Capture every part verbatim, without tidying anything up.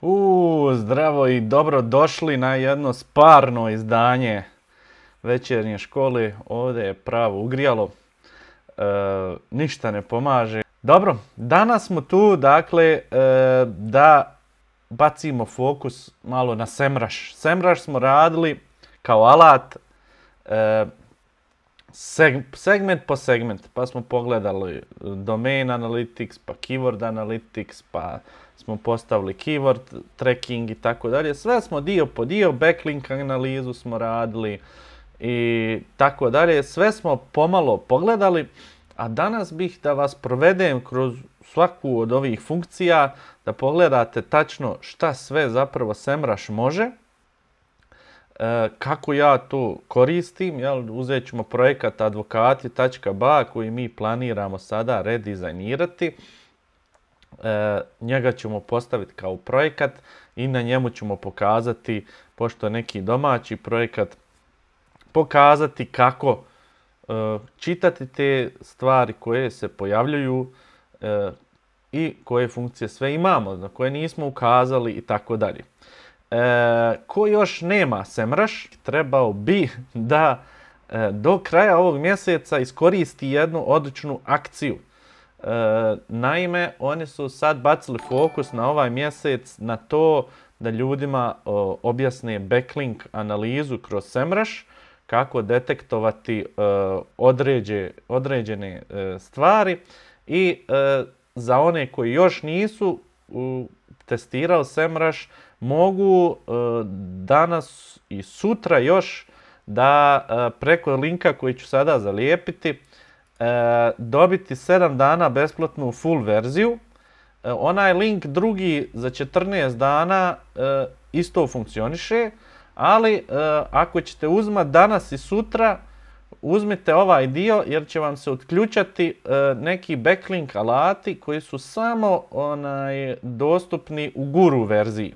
U, zdravo i dobro došli na jedno sparno izdanje večernje škole. Ovdje je pravo ugrijalo, e, ništa ne pomaže. Dobro, danas smo tu, dakle, e, da bacimo fokus malo na SEMrush. SEMrush smo radili kao alat, e, seg segment po segment, pa smo pogledali domain analytics, pa keyword analytics, pa smo postavili keyword tracking i tako dalje. Sve smo dio po dio, backlink analizu smo radili i tako dalje. Sve smo pomalo pogledali, a danas bih da vas provedem kroz svaku od ovih funkcija, da pogledate tačno šta sve zapravo SEMrush može, e, kako ja to koristim. Jel, uzet ćemo projekat advokati tačka ba koji mi planiramo sada redizajnirati. E, njega ćemo postaviti kao projekat i na njemu ćemo pokazati, pošto je neki domaći projekat, pokazati kako e, čitati te stvari koje se pojavljuju e, i koje funkcije sve imamo, na koje nismo ukazali i tako dalje. E, ko još nema SEMrush, trebao bi da e, do kraja ovog mjeseca iskoristi jednu odličnu akciju. E, naime, oni su sad bacili fokus na ovaj mjesec na to da ljudima o, objasne backlink analizu kroz SEMrush, kako detektovati e, određe, određene e, stvari i e, za one koji još nisu u, testirali SEMrush, mogu e, danas i sutra još da e, preko linka koji ću sada zalijepiti E, dobiti sedam dana besplatnu full verziju. E, onaj link drugi za četrnaest dana e, isto funkcioniše, ali e, ako ćete uzmati danas i sutra, uzmite ovaj dio jer će vam se otključati e, neki backlink alati koji su samo onaj, dostupni u guru verziji.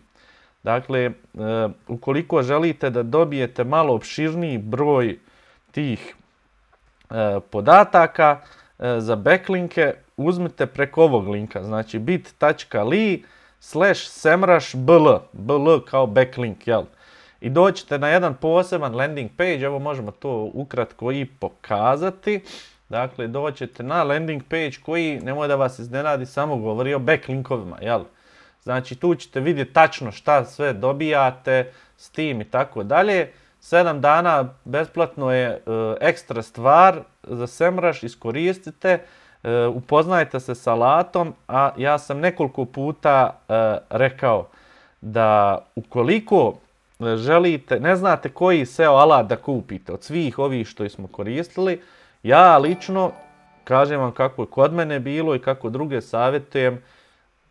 Dakle, e, ukoliko želite da dobijete malo opširniji broj tih podataka za backlinke, uzmite preko ovog linka, znači bit tačka li slash semrush bl, bl kao backlink, jel? I doćete na jedan poseban landing page, evo možemo to ukratko i pokazati. Dakle, doćete na landing page koji, nemoj da vas iznenadi, samo govori o backlinkovima, jel? Znači, tu ćete vidjeti tačno šta sve dobijate s tim i tako dalje. sedam dana besplatno je e, ekstra stvar za SEMrush, iskoristite, e, upoznajte se s alatom, a ja sam nekoliko puta e, rekao da ukoliko želite, ne znate koji S E O alat da kupite od svih ovih što smo koristili, ja lično kažem vam kako je kod mene bilo i kako druge savjetujem,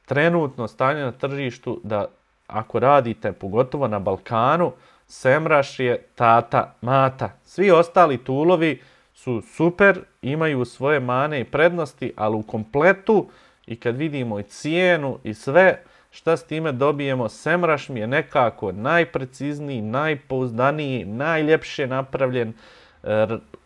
trenutno stanje na tržištu da ako radite, pogotovo na Balkanu, SEMrush je tata, mata. Svi ostali toolovi su super, imaju svoje mane i prednosti, ali u kompletu i kad vidimo i cijenu i sve šta s time dobijemo, SEMrush mi je nekako najprecizniji, najpouzdaniji, najljepše napravljen,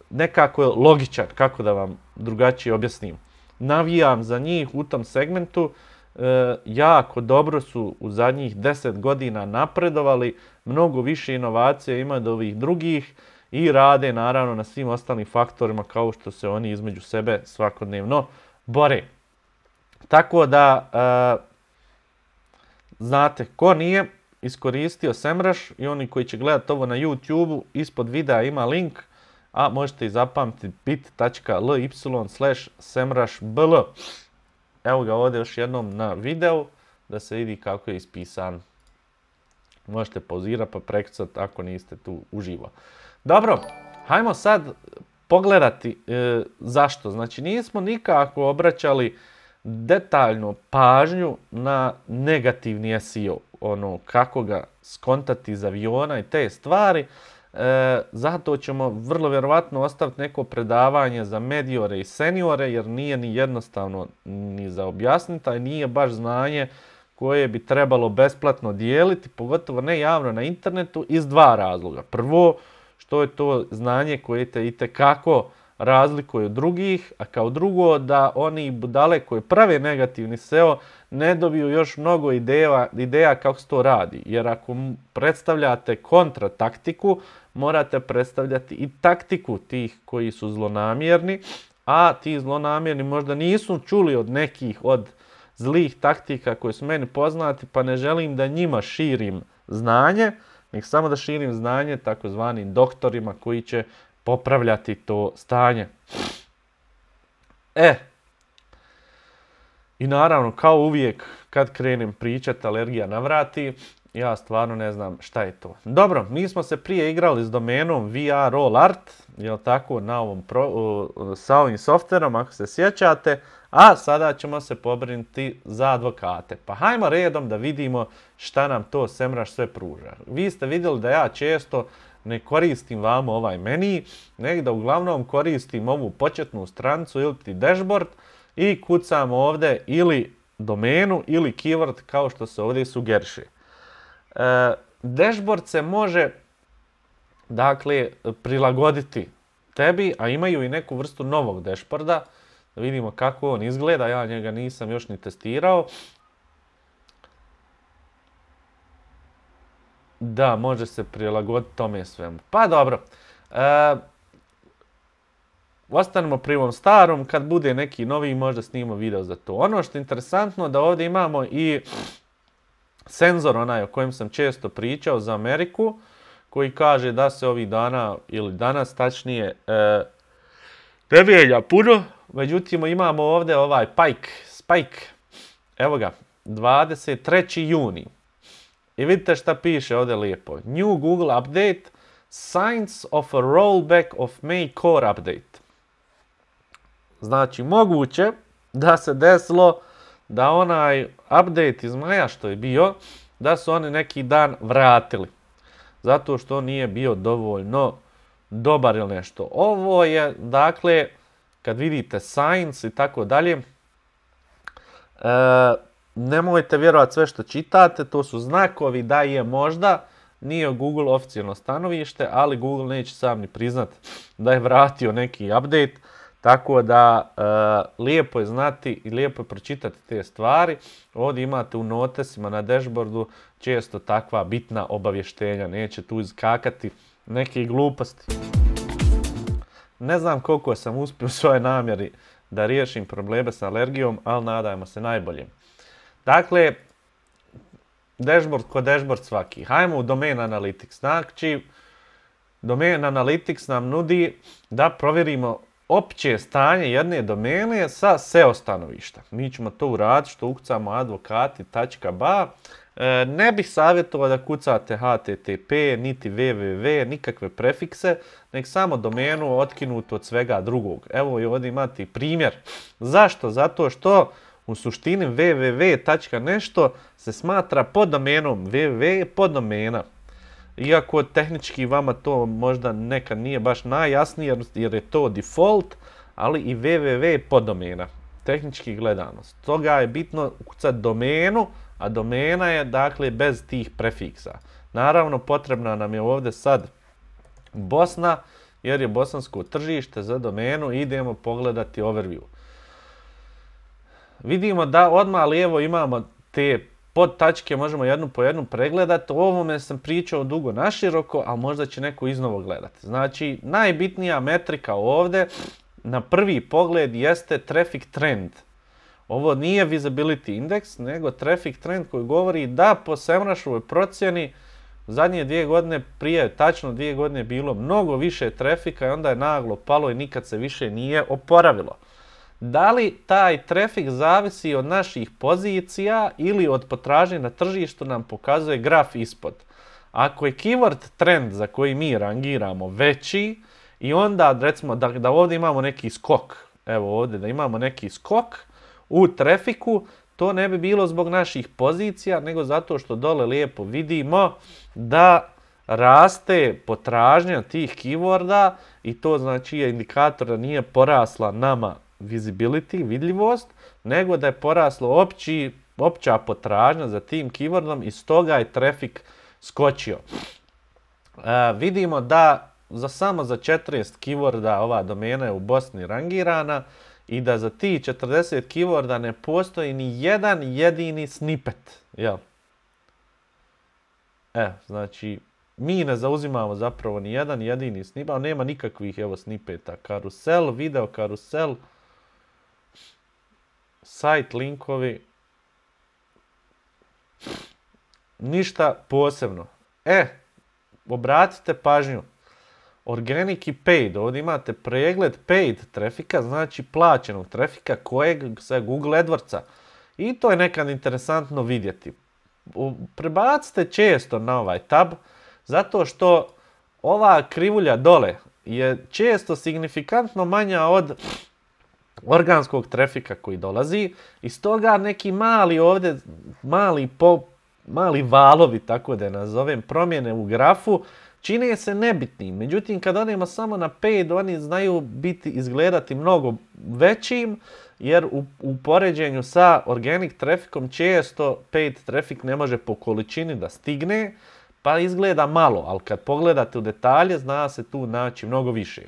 nekako je logičan, kako da vam drugačije objasnim. Navijam za njih u tom segmentu. E, jako dobro su u zadnjih deset godina napredovali, mnogo više inovacija ima od ovih drugih i rade naravno na svim ostalim faktorima kao što se oni između sebe svakodnevno bore. Tako da e, znate, ko nije iskoristio SEMrush i oni koji će gledati ovo na YouTube-u, ispod videa ima link, a možete i zapamtiti bit tačka li slash semrush bl. Evo ga ovdje još jednom na videu da se vidi kako je ispisan. Možete pauzirati pa prekcati ako niste tu uživo. Dobro, hajmo sad pogledati e, zašto. Znači nismo nikako obraćali detaljnu pažnju na negativni S E O. Ono, kako ga skontati iz aviona i te stvari. E, zato ćemo vrlo vjerovatno ostaviti neko predavanje za mediore i seniore, jer nije ni jednostavno ni za objasniti, a nije baš znanje koje bi trebalo besplatno dijeliti, pogotovo ne javno na internetu, iz dva razloga. Prvo, što je to znanje koje te itekako razlikuje od drugih, a kao drugo da oni budale koji prave negativni S E O ne dobiju još mnogo ideja, ideja kako se to radi. Jer ako predstavljate kontrataktiku, morate predstavljati i taktiku tih koji su zlonamjerni, a ti zlonamjerni možda nisu čuli od nekih od zlih taktika koje su meni poznati, pa ne želim da njima širim znanje, nek samo da širim znanje takozvanim doktorima koji će popravljati to stanje. E, i naravno, kao uvijek, kad krenem pričati alergija navrati, ja stvarno ne znam šta je to. Dobro, mi smo se prije igrali s domenom V R All Art, jel tako, na ovom pro, uh, sa ovim softverom, ako se sjećate, a sada ćemo se pobrinuti za advokate. Pa hajmo redom da vidimo šta nam to SEMrush sve pruža. Vi ste vidjeli da ja često ne koristim vam ovaj meni, nego da uglavnom koristim ovu početnu stranicu ili ti dashboard i kucam ovdje ili domenu ili keyword kao što se ovdje sugeriše. E, dashboard se može dakle prilagoditi tebi, a imaju i neku vrstu novog dashboarda. Da vidimo kako on izgleda, ja njega nisam još ni testirao. Da, može se prilagoditi tome svemu. Pa dobro. E, ostanemo pri ovom starom, kad bude neki novi možda snimamo video za to. Ono što je interesantno da ovdje imamo i senzor onaj o kojem sam često pričao za Ameriku, koji kaže da se ovih dana, ili danas tačnije, e, ne mijenja puno. Međutim, imamo ovdje ovaj Pike, Spike, evo ga, dvadeset treći juni. I vidite šta piše ovdje lijepo. New Google Update, signs of a rollback of May Core Update. Znači, moguće da se desilo da onaj update iz maja što je bio, da su oni neki dan vratili. Zato što nije bio dovoljno dobar ili nešto. Ovo je, dakle, kad vidite signs i tako dalje, e, nemojte vjerovati sve što čitate, to su znakovi da je možda, nije Google oficijalno stanovište, ali Google neće sam ni priznat da je vratio neki update, tako da e, lijepo je znati i lijepo je pročitati te stvari. Ovdje imate u notesima na dashboardu često takva bitna obavještenja, neće tu iskakati neke gluposti. Ne znam koliko sam uspio u svojoj namjeri da riješim probleme s alergijom, ali nadajmo se najbolje. Dakle, dashboard ko dashboard svaki. Hajmo u Domain Analytics. Znači, Domain Analytics nam nudi da provjerimo opće stanje jedne domene sa S E O stanovišta. Mi ćemo to uraditi što ukucamo advokati tačka ba. E, ne bih savjetovao da kucate H T T P, niti W W W, nikakve prefikse, nek samo domenu otkinutu od svega drugog. Evo i ovdje imate primjer. Zašto? Zato što u suštini W W W tačka nešto se smatra pod domenom. W W W je poddomena. Iako tehnički vama to možda nekad nije baš najjasnije jer je to default, ali i W W W je poddomena. Tehnički gledano. Stoga je bitno ukucati domenu, a domena je dakle bez tih prefiksa. Naravno potrebna nam je ovdje sad Bosna, jer je bosansko tržište za domenu. Idemo pogledati overview. Vidimo da odmah lijevo imamo te pod tačke, možemo jednu po jednu pregledati. O ovome sam pričao dugo naširoko, a možda će neko iznovo gledati. Znači, najbitnija metrika ovdje na prvi pogled jeste traffic trend. Ovo nije visibility index, nego traffic trend koji govori da po SEMrušovoj procjeni zadnje dvije godine, prije tačno dvije godine bilo mnogo više trafika i onda je naglo palo i nikad se više nije oporavilo. Da li taj trafik zavisi od naših pozicija ili od potražnje na tržištu nam pokazuje graf ispod. Ako je keyword trend za koji mi rangiramo veći i onda recimo da, da ovdje imamo neki skok, evo ovdje da imamo neki skok u trafiku, to ne bi bilo zbog naših pozicija, nego zato što dole lijepo vidimo da raste potražnja tih keyworda i to znači je indikator da nije porasla nama visibility, vidljivost, nego da je poraslo opći, opća potražnja za tim keywordom i stoga je trafik skočio. E, vidimo da za samo za četrnaest keyworda ova domena je u Bosni rangirana i da za ti četrdeset keyworda ne postoji ni jedan jedini snippet. Jel? E, znači, mi ne zauzimamo zapravo ni jedan jedini snippet, nema nikakvih evo snippeta. Karusel, video karusel, sajt linkovi, ništa posebno. E, obratite pažnju. Organic i paid, ovdje imate pregled paid trafika, znači plaćenog trafika kojeg sa Google AdWordsa. I to je nekad interesantno vidjeti. Prebacite često na ovaj tab, zato što ova krivulja dole je često signifikantno manja od organskog trafika koji dolazi. I stoga neki mali ovdje, mali, po, mali valovi, tako da je nazovem, promjene u grafu, čine se nebitnim. Međutim, kad odemo samo na paid, oni znaju biti, izgledati mnogo većim, jer u, u poređenju sa organic trafikom često paid trafik ne može po količini da stigne, pa izgleda malo, ali kad pogledate u detalje, zna se tu naći mnogo više.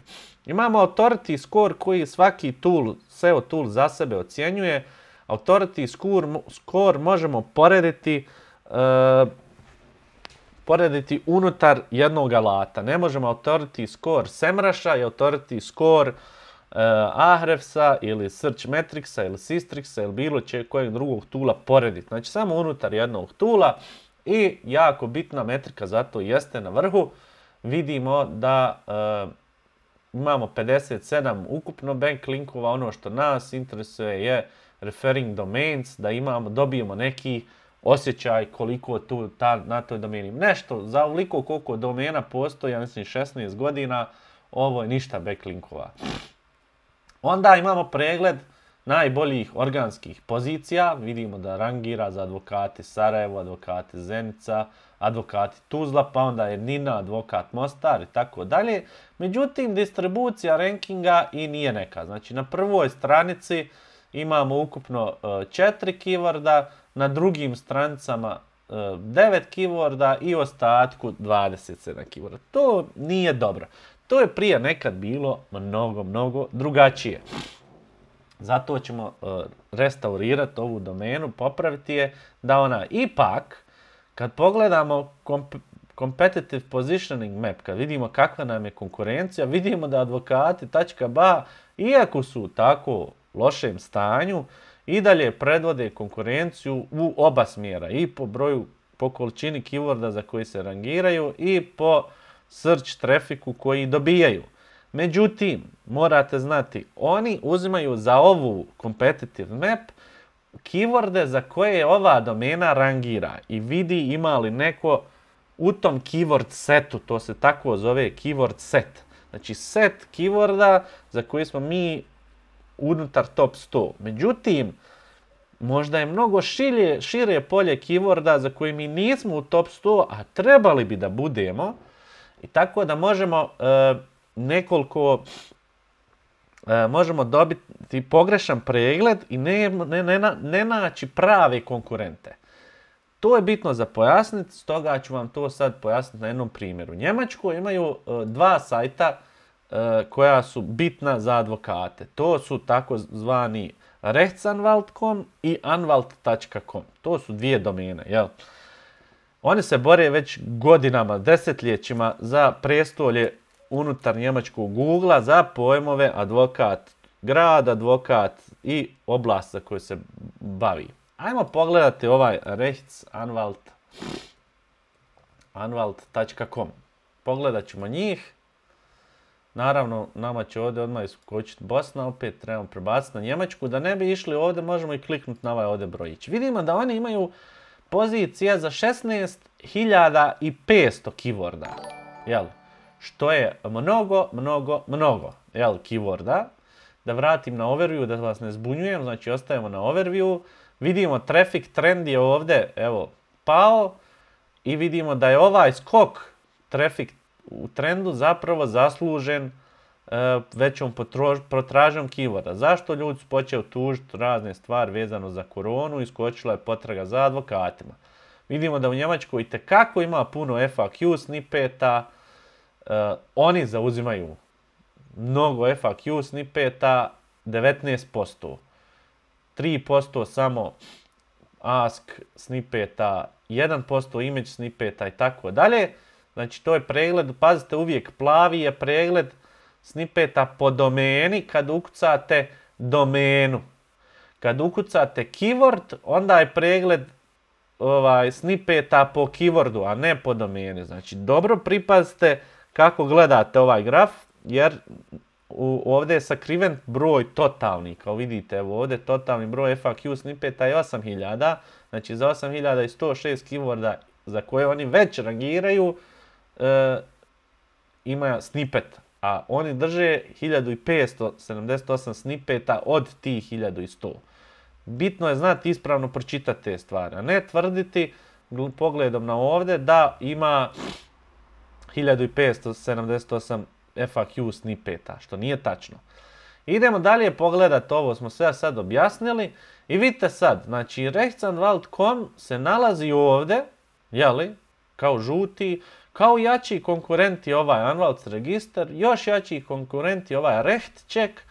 Imamo authority score koji svaki tool, S E O tool za sebe ocjenjuje. Authority score, score možemo porediti uh, porediti unutar jednog alata. Ne možemo authority score SEMruša i authority score uh, Ahrefsa ili Searchmetricsa ili Sistrixsa ili bilo če kojeg drugog tula porediti. Znači samo unutar jednog tula i jako bitna metrika zato jeste na vrhu. Vidimo da uh, imamo pedeset sedam ukupno backlinkova. Ono što nas interesuje je referring domains, da imamo, dobijemo neki osjećaj koliko tu ta, na toj domeni. Nešto, za ovoliko koliko domena postoji, ja mislim šesnaest godina, ovo je ništa backlinkova. Onda imamo pregled najboljih organskih pozicija. Vidimo da rangira za advokati Sarajevo, advokati Zenica, advokati Tuzla, pa onda je Nina, advokat Mostar i tako dalje. Međutim, distribucija rankinga i nije neka. Znači, na prvoj stranici imamo ukupno četiri keyworda, na drugim stranicama devet keyworda i ostatku dvadeset sedam keyworda. To nije dobro. To je prije nekad bilo mnogo, mnogo drugačije. Zato ćemo restaurirati ovu domenu, popraviti je, da ona ipak, kad pogledamo competitive positioning map, kad vidimo kakva nam je konkurencija, vidimo da advokati.ba, iako su u tako lošem stanju, i dalje predvode konkurenciju u oba smjera, i po broju, po količini keyworda za koji se rangiraju i po search trafiku koji dobijaju. Međutim, morate znati, oni uzimaju za ovu competitive map keyworde za koje je ova domena rangira i vidi ima li neko u tom keyword setu, to se tako zove keyword set. Znači set keyworda za koje smo mi unutar top sto. Međutim, možda je mnogo širje, šire polje keyworda za koje mi nismo u top sto, a trebali bi da budemo. I tako da možemo e, nekoliko, e, možemo dobiti pogrešan pregled i ne, ne, ne, ne naći prave konkurente. To je bitno za pojasniti, stoga ću vam to sad pojasniti na jednom primjeru. U Njemačkoj imaju e, dva sajta koja su bitna za advokate. To su takozvani rechtsanwalt dot com i anwalt dot com. To su dvije domene, jel? Oni se bore već godinama, desetljećima za prestolje unutar njemačkog Googlea za pojmove advokat grad, advokat i oblast za koju se bavi. Ajmo pogledati ovaj rechtsanwalt dot com. Pogledat ćemo njih. Naravno, nama će ovdje odmah iskočiti Bosna, opet trebamo prebaciti na Njemačku. Da ne bi išli ovdje, možemo i kliknuti na ovaj ovdje brojić. Vidimo da oni imaju pozicije za šesnaest hiljada petsto keyworda. Jel? Što je mnogo, mnogo, mnogo. Jel? Keyworda. Da vratim na overview, da vas ne zbunjujem. Znači, ostajemo na overview. Vidimo traffic trend je ovdje, evo, pao. I vidimo da je ovaj skok traffic u trendu zapravo zaslužen e, većom potražnjom keyworda. Zašto ljudi su počeli tužiti razne stvari vezano za koronu i skočila je potraga za advokatima. Vidimo da u Njemačkoj itekako ima puno F A Q snippeta, e, oni zauzimaju mnogo F A Q snippeta devetnaest posto. tri posto samo ask snippeta, jedan posto image snippeta i tako dalje. Znači to je pregled, pazite uvijek, plavi je pregled snippeta po domeni kad ukucate domenu. Kad ukucate keyword, onda je pregled ovaj, snippeta po keywordu, a ne po domeni. Znači dobro pripazite kako gledate ovaj graf, jer u, ovdje je sakriven broj totalni. Kao vidite, evo ovdje totalni broj F A Q snippeta je osam hiljada. Znači za osam hiljada sto šest keyworda za koje oni već rangiraju, e, ima snippet. A oni drže hiljadu petsto sedamdeset osam snippeta od tih hiljadu sto. Bitno je znati ispravno pročitati te stvari, a ne tvrditi pogledom na ovdje da ima hiljadu petsto sedamdeset osam F A Q snippeta, što nije tačno. Idemo dalje pogledati, ovo smo sve sad objasnili i vidite sad, znači rechtsanwalt punkt com se nalazi ovdje, jeli, kao žuti, kao jači konkurenti ovaj Anwalts register, još jači konkurenti ovaj Rechtcheck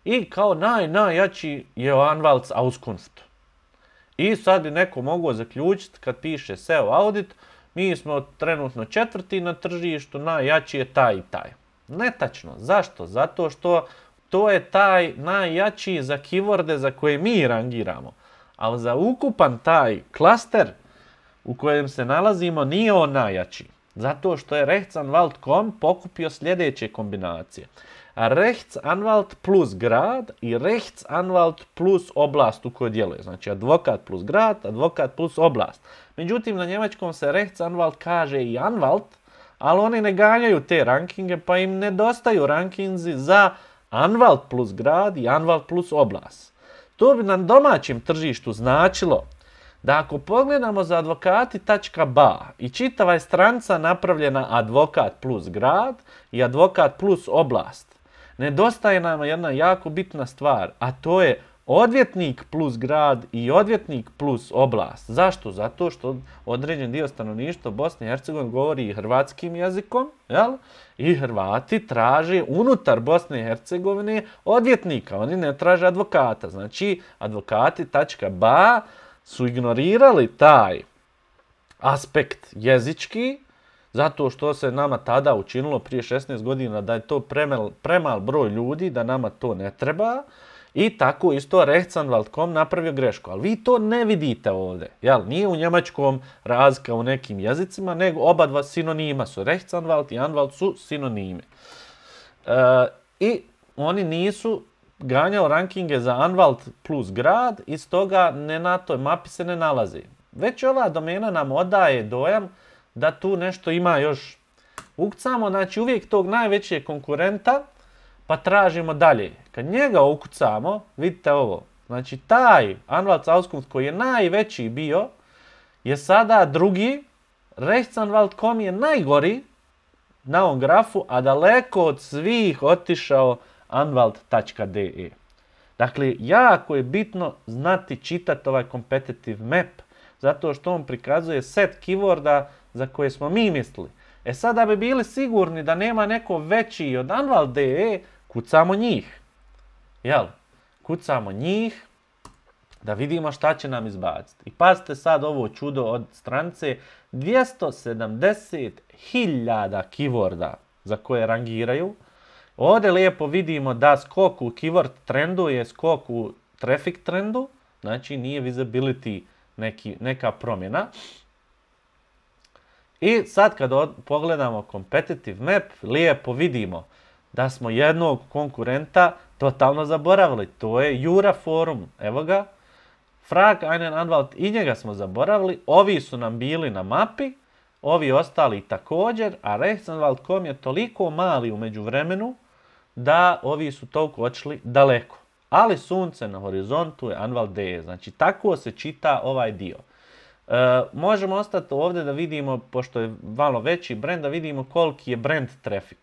i kao naj, najjači je Anwalts Auskunft. I sad bi neko mogao zaključiti kad piše S E O audit, mi smo trenutno četvrti na tržištu, najjači je taj i taj. Netačno. Zašto? Zato što to je taj najjači za keyworde za koje mi rangiramo. Ali za ukupan taj klaster u kojem se nalazimo nije on najjači. Zato što je rechtsanwalt punkt com pokupio sljedeće kombinacije. Rechtsanwalt plus grad i rechtsanwalt plus oblast u kojoj djeluje. Znači advokat plus grad, advokat plus oblast. Međutim, na njemačkom se rechtsanwalt kaže i anwalt, ali oni ne ganjaju te rankinge, pa im nedostaju rankinzi za anwalt plus grad i anwalt plus oblast. To bi na domaćem tržištu značilo da ako pogledamo za advokati tačka ba i čitava je stranca napravljena advokat plus grad i advokat plus oblast, nedostaje nam jedna jako bitna stvar, a to je odvjetnik plus grad i odvjetnik plus oblast. Zašto? Zato što određen dio stanovništva Bosne i Hercegovine govori hrvatskim jezikom, jel? I Hrvati traže unutar Bosne i Hercegovine odvjetnika, oni ne traže advokata. Znači, advokati tačka ba su ignorirali taj aspekt jezički, zato što se nama tada učinilo prije šesnaest godina da je to premal, premal broj ljudi, da nama to ne treba. I tako isto rechtsanwalt punkt com napravio grešku, ali vi to ne vidite ovdje. Jel? Nije u njemačkom razlika u nekim jezicima, nego oba dva sinonima su. Rechtsanwalt i anwalt su sinonime. E, I oni nisu ganjao rankinge za anwalt plus grad i stoga ne na toj mapi se ne nalazi. Već ova domena nam odaje dojam da tu nešto ima još. Ukucamo, znači uvijek tog najvećeg konkurenta, pa tražimo dalje. Kad njega ukucamo, vidite ovo, znači taj Anwalts Auskunft koji je najveći bio, je sada drugi, rechtsanwalt punkt com je najgori na ovom grafu, a daleko od svih otišao anwalt tačka de. Dakle, jako je bitno znati čitati ovaj competitive map, zato što on prikazuje set keyworda za koje smo mi mislili. E sad, da bi bili sigurni da nema neko veći od anwalt tačka de, kucamo njih. Jel? Kucamo njih da vidimo šta će nam izbaciti. I pazite sad ovo čudo od stranice, dvjesto sedamdeset hiljada keyworda za koje rangiraju. Ovdje lijepo vidimo da skok u keyword trendu je skok u traffic trendu, znači nije visibility neki, neka promjena. I sad kad od, pogledamo competitive map, lijepo vidimo da smo jednog konkurenta totalno zaboravili. To je Jura Forum. Evo ga. Frag einen Anwalt, i njega smo zaboravili. Ovi su nam bili na mapi, ovi ostali također, a rechtsanwalt punkt com je toliko mali u međuvremenu da ovi su toliko očili daleko. Ali sunce na horizontu je anwalt tačka de. Znači tako se čita ovaj dio. E, možemo ostati ovdje da vidimo, pošto je malo veći brand, da vidimo koliki je brand traffic.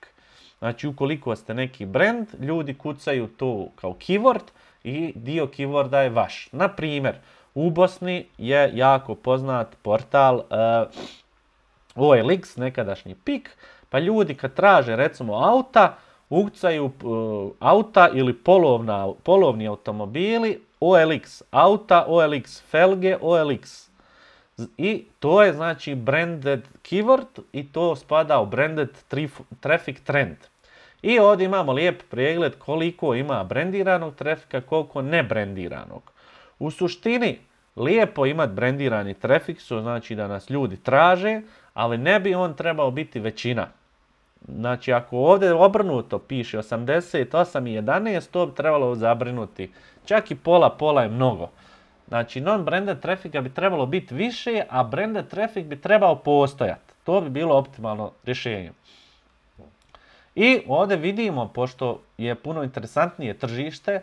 Znači, ukoliko ste neki brand, ljudi kucaju to kao keyword i dio keyworda je vaš. Na primjer, u Bosni je jako poznat portal uh, O L X, nekadašnji Pik, pa ljudi kad traže recimo auta, ukucaju uh, auta ili polovna, polovni automobili, O L X auta, O L X felge, O L X. I to je znači branded keyword i to spada u branded traffic trend. I ovdje imamo lijep pregled koliko ima brandiranog trafika, koliko nebrandiranog. U suštini, lijepo imati brandirani trafik, što znači da nas ljudi traže, ali ne bi on trebao biti većina. Znači, ako ovdje obrnuto piše osamdeset osam i jedanaest, to bi trebalo zabrinuti. Čak i pola, pola je mnogo. Znači, non-branded trafika bi trebalo biti više, a branded trafik bi trebao postojati. To bi bilo optimalno rješenje. I ovdje vidimo, pošto je puno interesantnije tržište,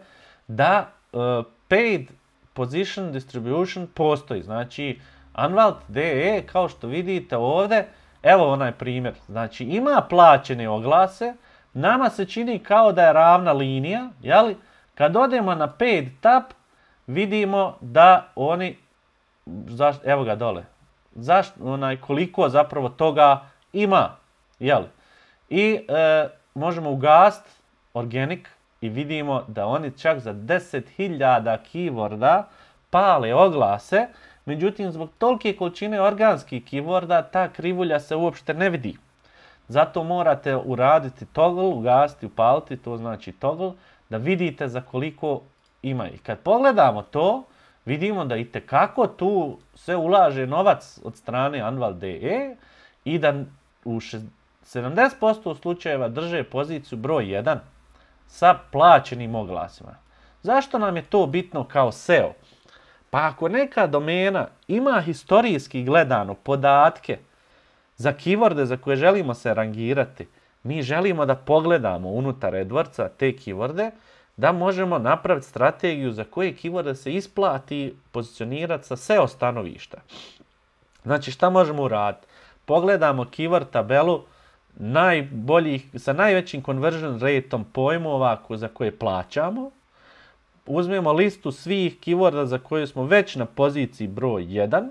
da uh, paid position distribution postoji. Znači, Anwalt punkt de e, kao što vidite ovdje, evo onaj primjer. Znači, ima plaćene oglase, nama se čini kao da je ravna linija, jeli? Kad odemo na paid tab, vidimo da oni, zaš, evo ga dole, zaš, onaj, koliko zapravo toga ima, jeli? I e, možemo ugasiti organic i vidimo da oni čak za deset hiljada keyworda pale oglase, međutim zbog tolike količine organskih keyworda ta krivulja se uopšte ne vidi. Zato morate uraditi toggle, ugasiti, upaliti, to znači toggle, da vidite za koliko ima. I kad pogledamo to, vidimo da itekako tu se ulaže novac od strane Anwalt punkt de e i da u sedamdeset posto slučajeva drže poziciju broj jedan sa plaćenim oglasima. Zašto nam je to bitno kao S E O? Pa ako neka domena ima historijski gledano podatke za keyworde za koje želimo se rangirati, mi želimo da pogledamo unutar AdWordsa te keyworde, da možemo napraviti strategiju za koje keyworde se isplati pozicionirati sa S E O stanovišta. Znači šta možemo uraditi? Pogledamo keyword tabelu najboljih, sa najvećim conversion rateom pojmova za koje plaćamo. Uzmemo listu svih keyworda za koje smo već na poziciji broj jedan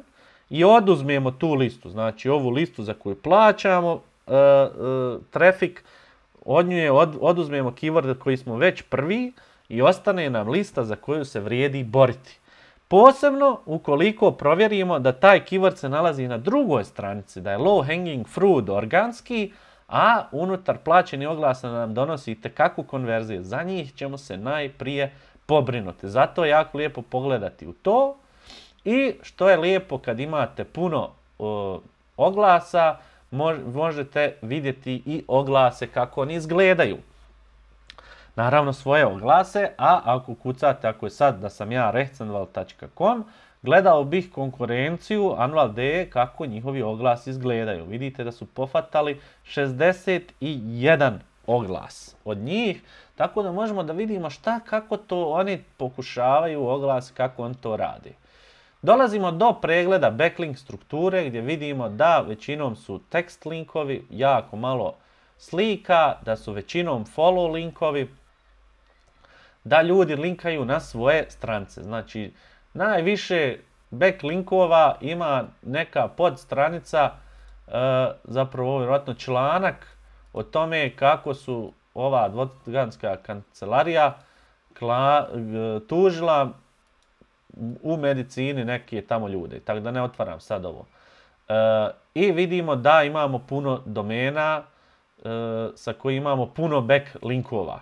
i oduzmemo tu listu. Znači ovu listu za koju plaćamo uh, uh, trafik, od nje od, oduzmemo keyworde koji smo već prvi i ostane nam lista za koju se vrijedi boriti. Posebno ukoliko provjerimo da taj keyword se nalazi na drugoj stranici, da je low hanging fruit organski, a unutar plaćeni oglasa nam donosi itekakvu konverziju. Za njih ćemo se najprije pobrinuti. Zato je jako lijepo pogledati u to. I što je lijepo kad imate puno uh, oglasa, mož, možete vidjeti i oglase kako oni izgledaju. Naravno svoje oglase, a ako kucate, ako je sad da sam ja recentval tačka com, gledao bih konkurenciju Anwalt punkt de e kako njihovi oglasi izgledaju. Vidite da su pofatali šezdeset jedan oglas od njih, tako da možemo da vidimo šta, kako to oni pokušavaju oglas, kako on to radi. Dolazimo do pregleda backlink strukture gdje vidimo da većinom su tekst linkovi, jako malo slika, da su većinom follow linkovi, da ljudi linkaju na svoje stranice. Znači, najviše backlinkova ima neka podstranica, e, zapravo ovo je vjerojatno članak o tome kako su ova advokatska kancelarija kla, tužila u medicini neke tamo ljude, tako da ne otvaram sad ovo. E, I vidimo da imamo puno domena e, sa koji imamo puno backlinkova.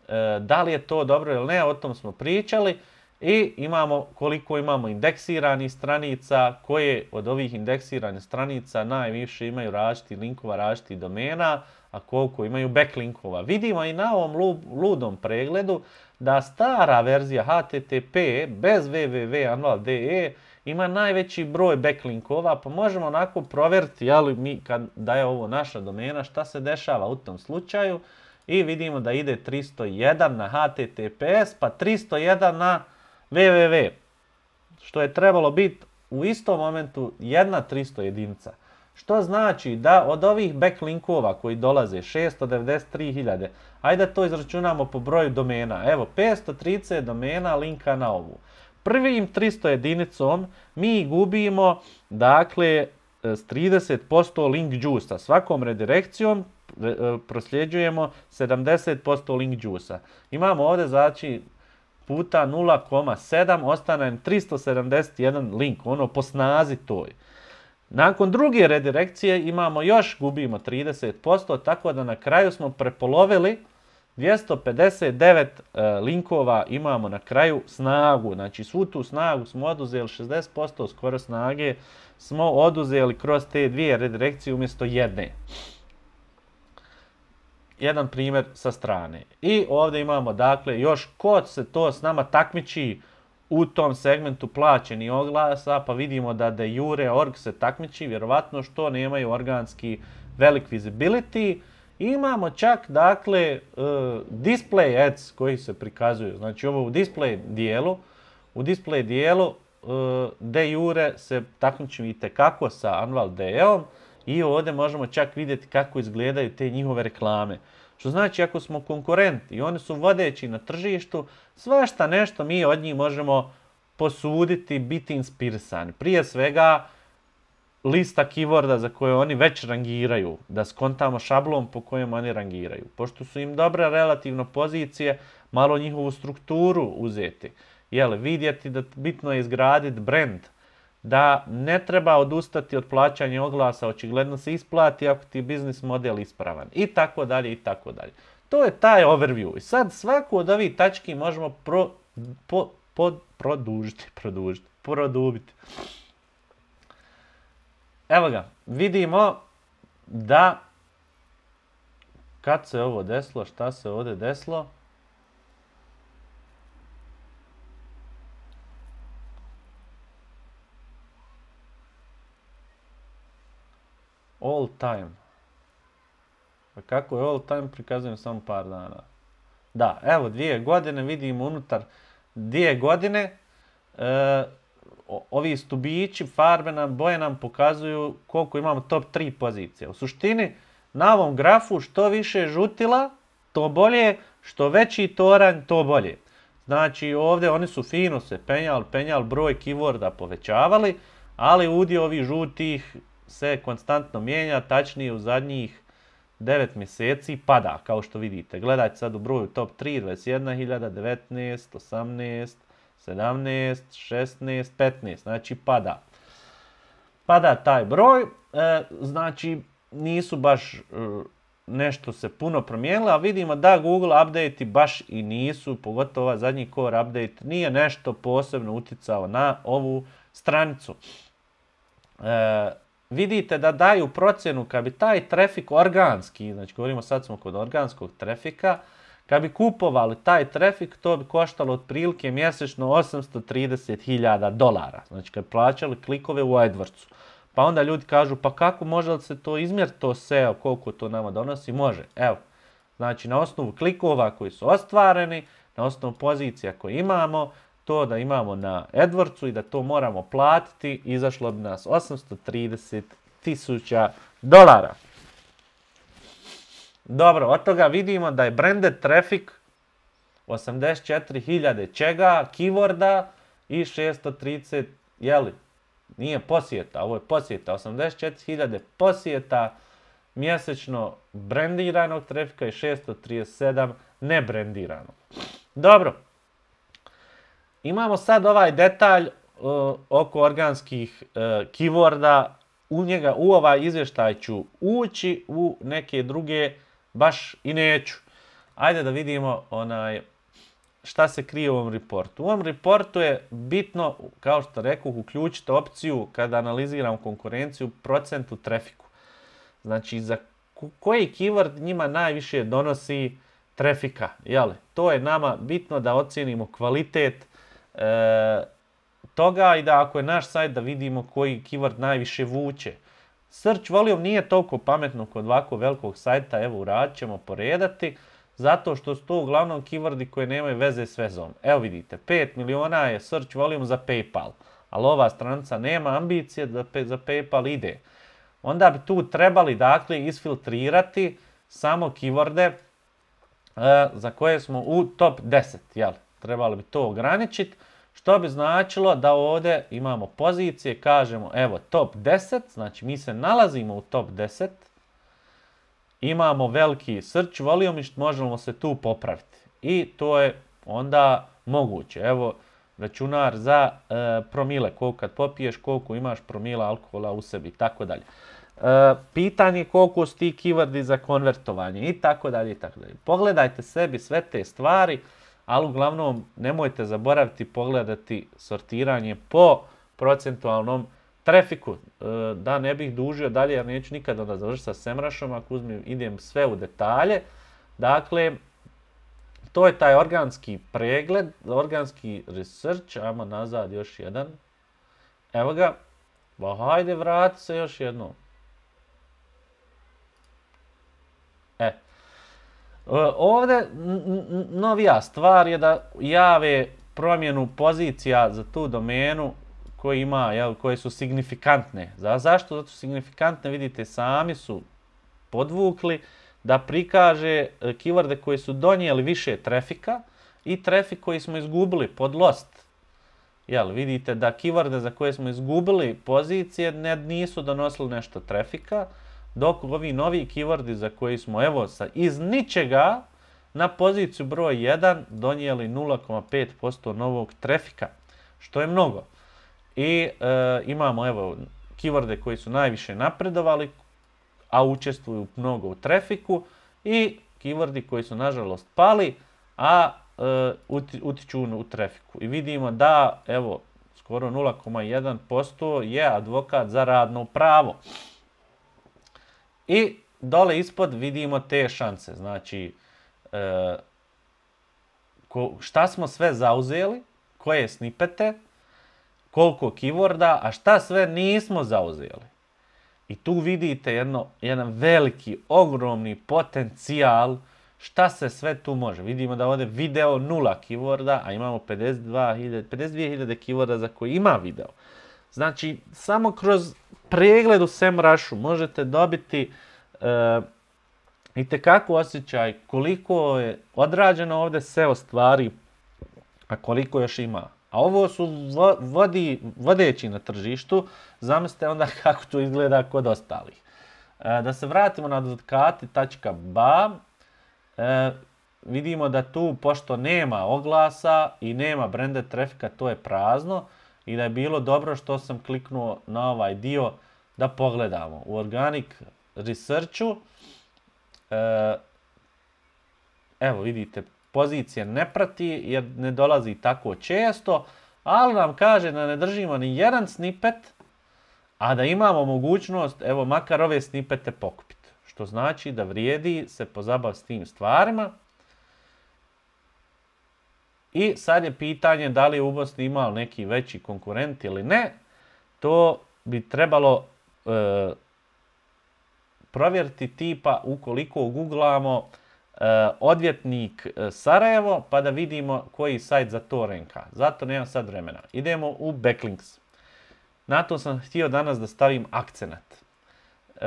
E, da li je to dobro ili ne, o tom smo pričali. I imamo koliko imamo indeksiranih stranica, koje od ovih indeksiranih stranica najviše imaju različitih linkova, različitih domena, a koliko imaju backlinkova. Vidimo i na ovom ludom pregledu da stara verzija H T T P bez w w w tačka anwalt tačka de e ima najveći broj backlinkova, pa možemo onako provjeriti, jeli mi kad da je ovo naša domena, šta se dešava u tom slučaju. I vidimo da ide tristo jedan na H T T P S, pa tristo jedan na w w w, što je trebalo biti u istom momentu jedna tristo jedinica. Što znači da od ovih backlinkova koji dolaze šesto devedeset tri hiljade, ajde to izračunamo po broju domena. Evo, petsto trideset domena linka na ovu. Prvim tristo jedinicom mi gubimo, dakle, s trideset posto link juice-a. Svakom redirekcijom prosljeđujemo sedamdeset posto link juice-a. Imamo ovdje znači puta nula zarez sedam, ostane nam tristo sedamdeset jedan link, ono po snazi toj. Nakon druge redirekcije imamo još, gubimo trideset posto, tako da na kraju smo prepolovili dvjesto pedeset devet e, linkova imamo na kraju snagu. Znači svu tu snagu smo oduzeli, šezdeset posto skoro snage smo oduzeli kroz te dvije redirekcije umjesto jedne. Jedan primjer sa strane. I ovdje imamo dakle još ko se to s nama takmiči u tom segmentu plaćeni oglasa, pa vidimo da de jure org se takmiči, vjerovatno što nemaju organski velik visibility. Imamo čak dakle uh, display ads koji se prikazuju. Znači ovo u display dijelu, u display dijelu uh, de jure se takmiči itekako sa Anval D E-om i ovdje možemo čak vidjeti kako izgledaju te njihove reklame. Što znači ako smo konkurenti i oni su vodeći na tržištu, svašta nešto mi od njih možemo posuditi, biti inspirisani. Prije svega lista keyworda za koje oni već rangiraju, da skontamo šablon po kojem oni rangiraju. Pošto su im dobre relativno pozicije, malo njihovu strukturu uzeti. Jel, vidjeti da bitno je izgraditi brand, da ne treba odustati od plaćanja oglasa, očigledno se isplati ako ti je biznis model ispravan i tako dalje i tako dalje. To je taj overview. I sad svaku od ovih tački možemo pro, po, pod, produžiti, produžiti, produbiti. Evo ga, vidimo da kad se ovo desilo, šta se ovdje desilo? All time. Pa kako je all time prikazujem samo par dana. Da, evo dvije godine, vidimo unutar dvije godine e, ovi stubići, farbe nam, boje nam pokazuju koliko imamo top tri pozicije. U suštini, na ovom grafu što više žutila, to bolje, što veći toranj, to bolje. Znači ovdje oni su fino se penjali, penjali, broj keyworda povećavali, ali udio ovih žutih se konstantno mijenja, tačnije u zadnjih devet mjeseci pada, kao što vidite. Gledajte sad u broju top tri, dvadeset jedna hiljada, devetnaest, osamnaest, sedamnaest, šesnaest, petnaest, znači pada. Pada taj broj, e, znači nisu baš e, nešto se puno promijenilo, a vidimo da Google update baš i nisu, pogotovo ovaj zadnji core update, nije nešto posebno uticao na ovu stranicu. E, vidite da daju procjenu kad bi taj trafik organski, znači govorimo sad smo kod organskog trafika, kad bi kupovali taj trafik, to bi koštalo otprilike mjesečno osamsto trideset hiljada dolara. Znači kad plaćali klikove u AdWordsu. Pa onda ljudi kažu, pa kako može li se to izmjeriti, to S E O, koliko to nama donosi? Može. Evo, znači na osnovu klikova koji su ostvareni, na osnovu pozicija koje imamo, to da imamo na AdWordsu i da to moramo platiti, izašlo bi nas osamsto trideset tisuća dolara. Dobro, od toga vidimo da je branded traffic osamdeset četiri hiljade čega, keyworda i šesto trideset, jeli, nije posjeta, ovo je posjeta, osamdeset četiri hiljade posjeta mjesečno brandiranog trafika i šesto trideset sedam nebrandiranog. Dobro, imamo sad ovaj detalj uh, oko organskih uh, keyworda, u njega, u ovaj izvještaj ću ući, u neke druge baš i neću. Ajde da vidimo onaj šta se krije u ovom reportu. U ovom reportu je bitno, kao što rekao, uključiti opciju kada analiziram konkurenciju procentu trafiku. Znači za koji keyword njima najviše donosi trafika. Jeli? To je nama bitno da ocijenimo kvalitet e, toga i da ako je naš sajt da vidimo koji keyword najviše vuče. Search volume nije toliko pametno kod ovako velikog sajta, evo uradit ćemo poredati, zato što su to uglavnom keywordi koje nemaju veze s vezom. Evo vidite, pet miliona je search volume za PayPal, ali ova stranica nema ambicije da za PayPal ide. Onda bi tu trebali dakle isfiltrirati samo keyworde e, za koje smo u top deset, jel? Trebali bi to ograničiti. Što bi značilo da ovdje imamo pozicije, kažemo evo top deset, znači mi se nalazimo u top deset, imamo veliki search volume i možemo se tu popraviti. I to je onda moguće. Evo računar za e, promile, koliko kad popiješ, koliko imaš promila alkohola u sebi i tako dalje. E, pitanje koliko su ti keywordi za konvertovanje i tako dalje i tako dalje. Pogledajte sebi sve te stvari, ali uglavnom nemojte zaboraviti pogledati sortiranje po procentualnom trafiku. E, da ne bih dužio dalje jer neću nikada onda završiti sa SEMrushom ako uzmem, idem sve u detalje. Dakle, to je taj organski pregled, organski research, ajmo nazad još jedan. Evo ga, ba hajde vrati se još jednom. E, ovdje novija stvar je da jave promjenu pozicija za tu domenu koje ima, jel, koje su signifikantne. Za, zašto? Zato su signifikantne, vidite, sami su podvukli da prikaže keyworde koji su donijeli više trafika i trafik koji smo izgubili pod lost. Jel, vidite da keyworde za koje smo izgubili pozicije ne, nisu donosili nešto trafika, dok ovi novi keywordi za koji smo evo sa iz ničega na poziciju broj jedan donijeli nula zarez pet posto novog trafika, što je mnogo. I e, imamo evo keyworde koji su najviše napredovali, a učestvuju mnogo u trafiku, i keywordi koji su nažalost pali, a e, utiču u trafiku. I vidimo da evo skoro nula zarez jedan posto je advokat za radno pravo. I dole ispod vidimo te šanse, znači e, ko, šta smo sve zauzeli, koje snipete, koliko keyworda, a šta sve nismo zauzeli. I tu vidite jedno, jedan veliki, ogromni potencijal šta se sve tu može. Vidimo da ovdje video nula keyworda, a imamo pedeset dvije hiljade keyworda za koji ima video. Znači, samo kroz pregled u SEMrushu možete dobiti e, itekako osjećaj koliko je odrađeno ovdje S E O stvari, a koliko još ima. A ovo su vodi, vodeći na tržištu, zamislite onda kako to izgleda kod ostalih. E, da se vratimo na advokati tačka b a, e, vidimo da tu, pošto nema oglasa i nema branded trafika, to je prazno i da je bilo dobro što sam kliknuo na ovaj dio da pogledamo. U Organic Researchu, e, evo vidite, pozicije ne prati jer ne dolazi tako često, ali nam kaže da ne držimo ni jedan snippet, a da imamo mogućnost, evo, makar ove snippete pokupiti. Što znači da vrijedi se pozabaviti s tim stvarima. I sad je pitanje da li je u Bosni imao neki veći konkurent ili ne. To bi trebalo e, provjeriti tipa ukoliko googlamo Uh, odvjetnik uh, Sarajevo, pa da vidimo koji sajt za to renka. Zato nemam sad vremena. Idemo u backlinks. Na to sam htio danas da stavim akcenat. Uh,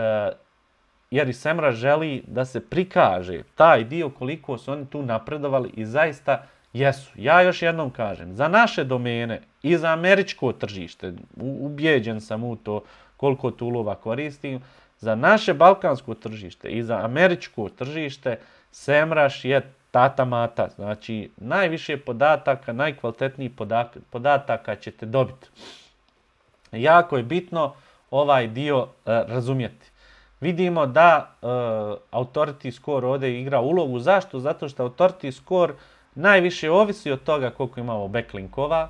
jer i SEMrush želi da se prikaže taj dio koliko su oni tu napredovali i zaista jesu. Ja još jednom kažem, za naše domene i za američko tržište, ubijeđen sam u to koliko toolova koristim, za naše balkansko tržište i za američko tržište SEMrush je tata mata, znači najviše podataka, najkvalitetnijih podataka ćete dobiti. Jako je bitno ovaj dio uh, razumjeti. Vidimo da uh, authority score ovdje igra ulogu. Zašto? Zato što authority score najviše ovisi od toga koliko imamo backlinkova.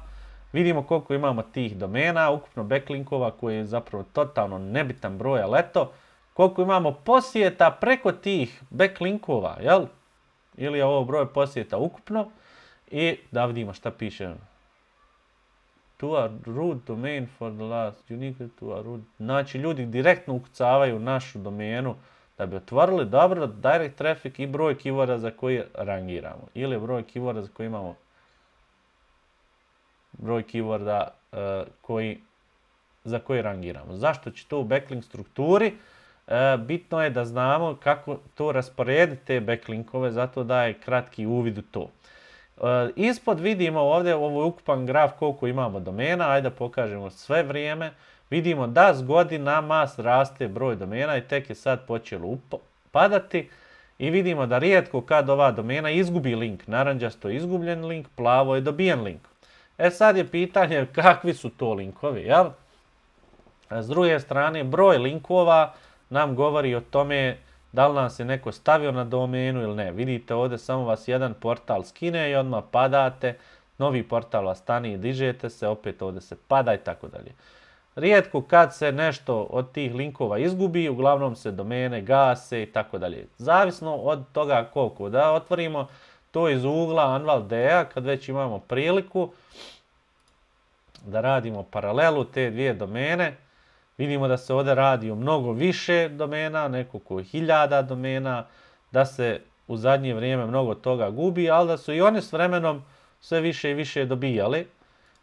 Vidimo koliko imamo tih domena, ukupno backlinkova koji je zapravo totalno nebitan broj, ali eto, koliko imamo posjeta preko tih backlinkova, jel? Ili je ovo broj posjeta ukupno. I da vidimo šta piše. To a root domain for the last unique to a root. Znači, ljudi direktno ukucavaju našu domenu da bi otvorili dobro direct traffic i broj keyworda za koji rangiramo. Ili broj keyworda za koji imamo broj keyworda uh, koji, za koji rangiramo. Zašto će to u backlink strukturi? E, bitno je da znamo kako to rasporediti te backlinkove, zato da je kratki uvid u to. Ispod vidimo ovdje, ovo je ukupan graf koliko imamo domena, ajde da pokažemo sve vrijeme. Vidimo da s godinama raste broj domena i tek je sad počelo padati. I vidimo da rijetko kad ova domena izgubi link, naranđasto je izgubljen link, plavo je dobijen link. E sad je pitanje kakvi su to linkovi, jel? S druge strane, broj linkova nam govori o tome da li nam se neko stavio na domenu ili ne. Vidite ovdje samo vas jedan portal skine i odmah padate, novi portal vas stane i dižete se, opet ovdje se pada i tako dalje. Rijetko kad se nešto od tih linkova izgubi, uglavnom se domene gase i tako dalje. Zavisno od toga koliko. Da otvorimo to iz ugla Anvaldea kad već imamo priliku da radimo paralelu te dvije domene. Vidimo da se ovdje radi o mnogo više domena, nekoliko hiljada domena, da se u zadnje vrijeme mnogo toga gubi, ali da su i oni s vremenom sve više i više dobijali.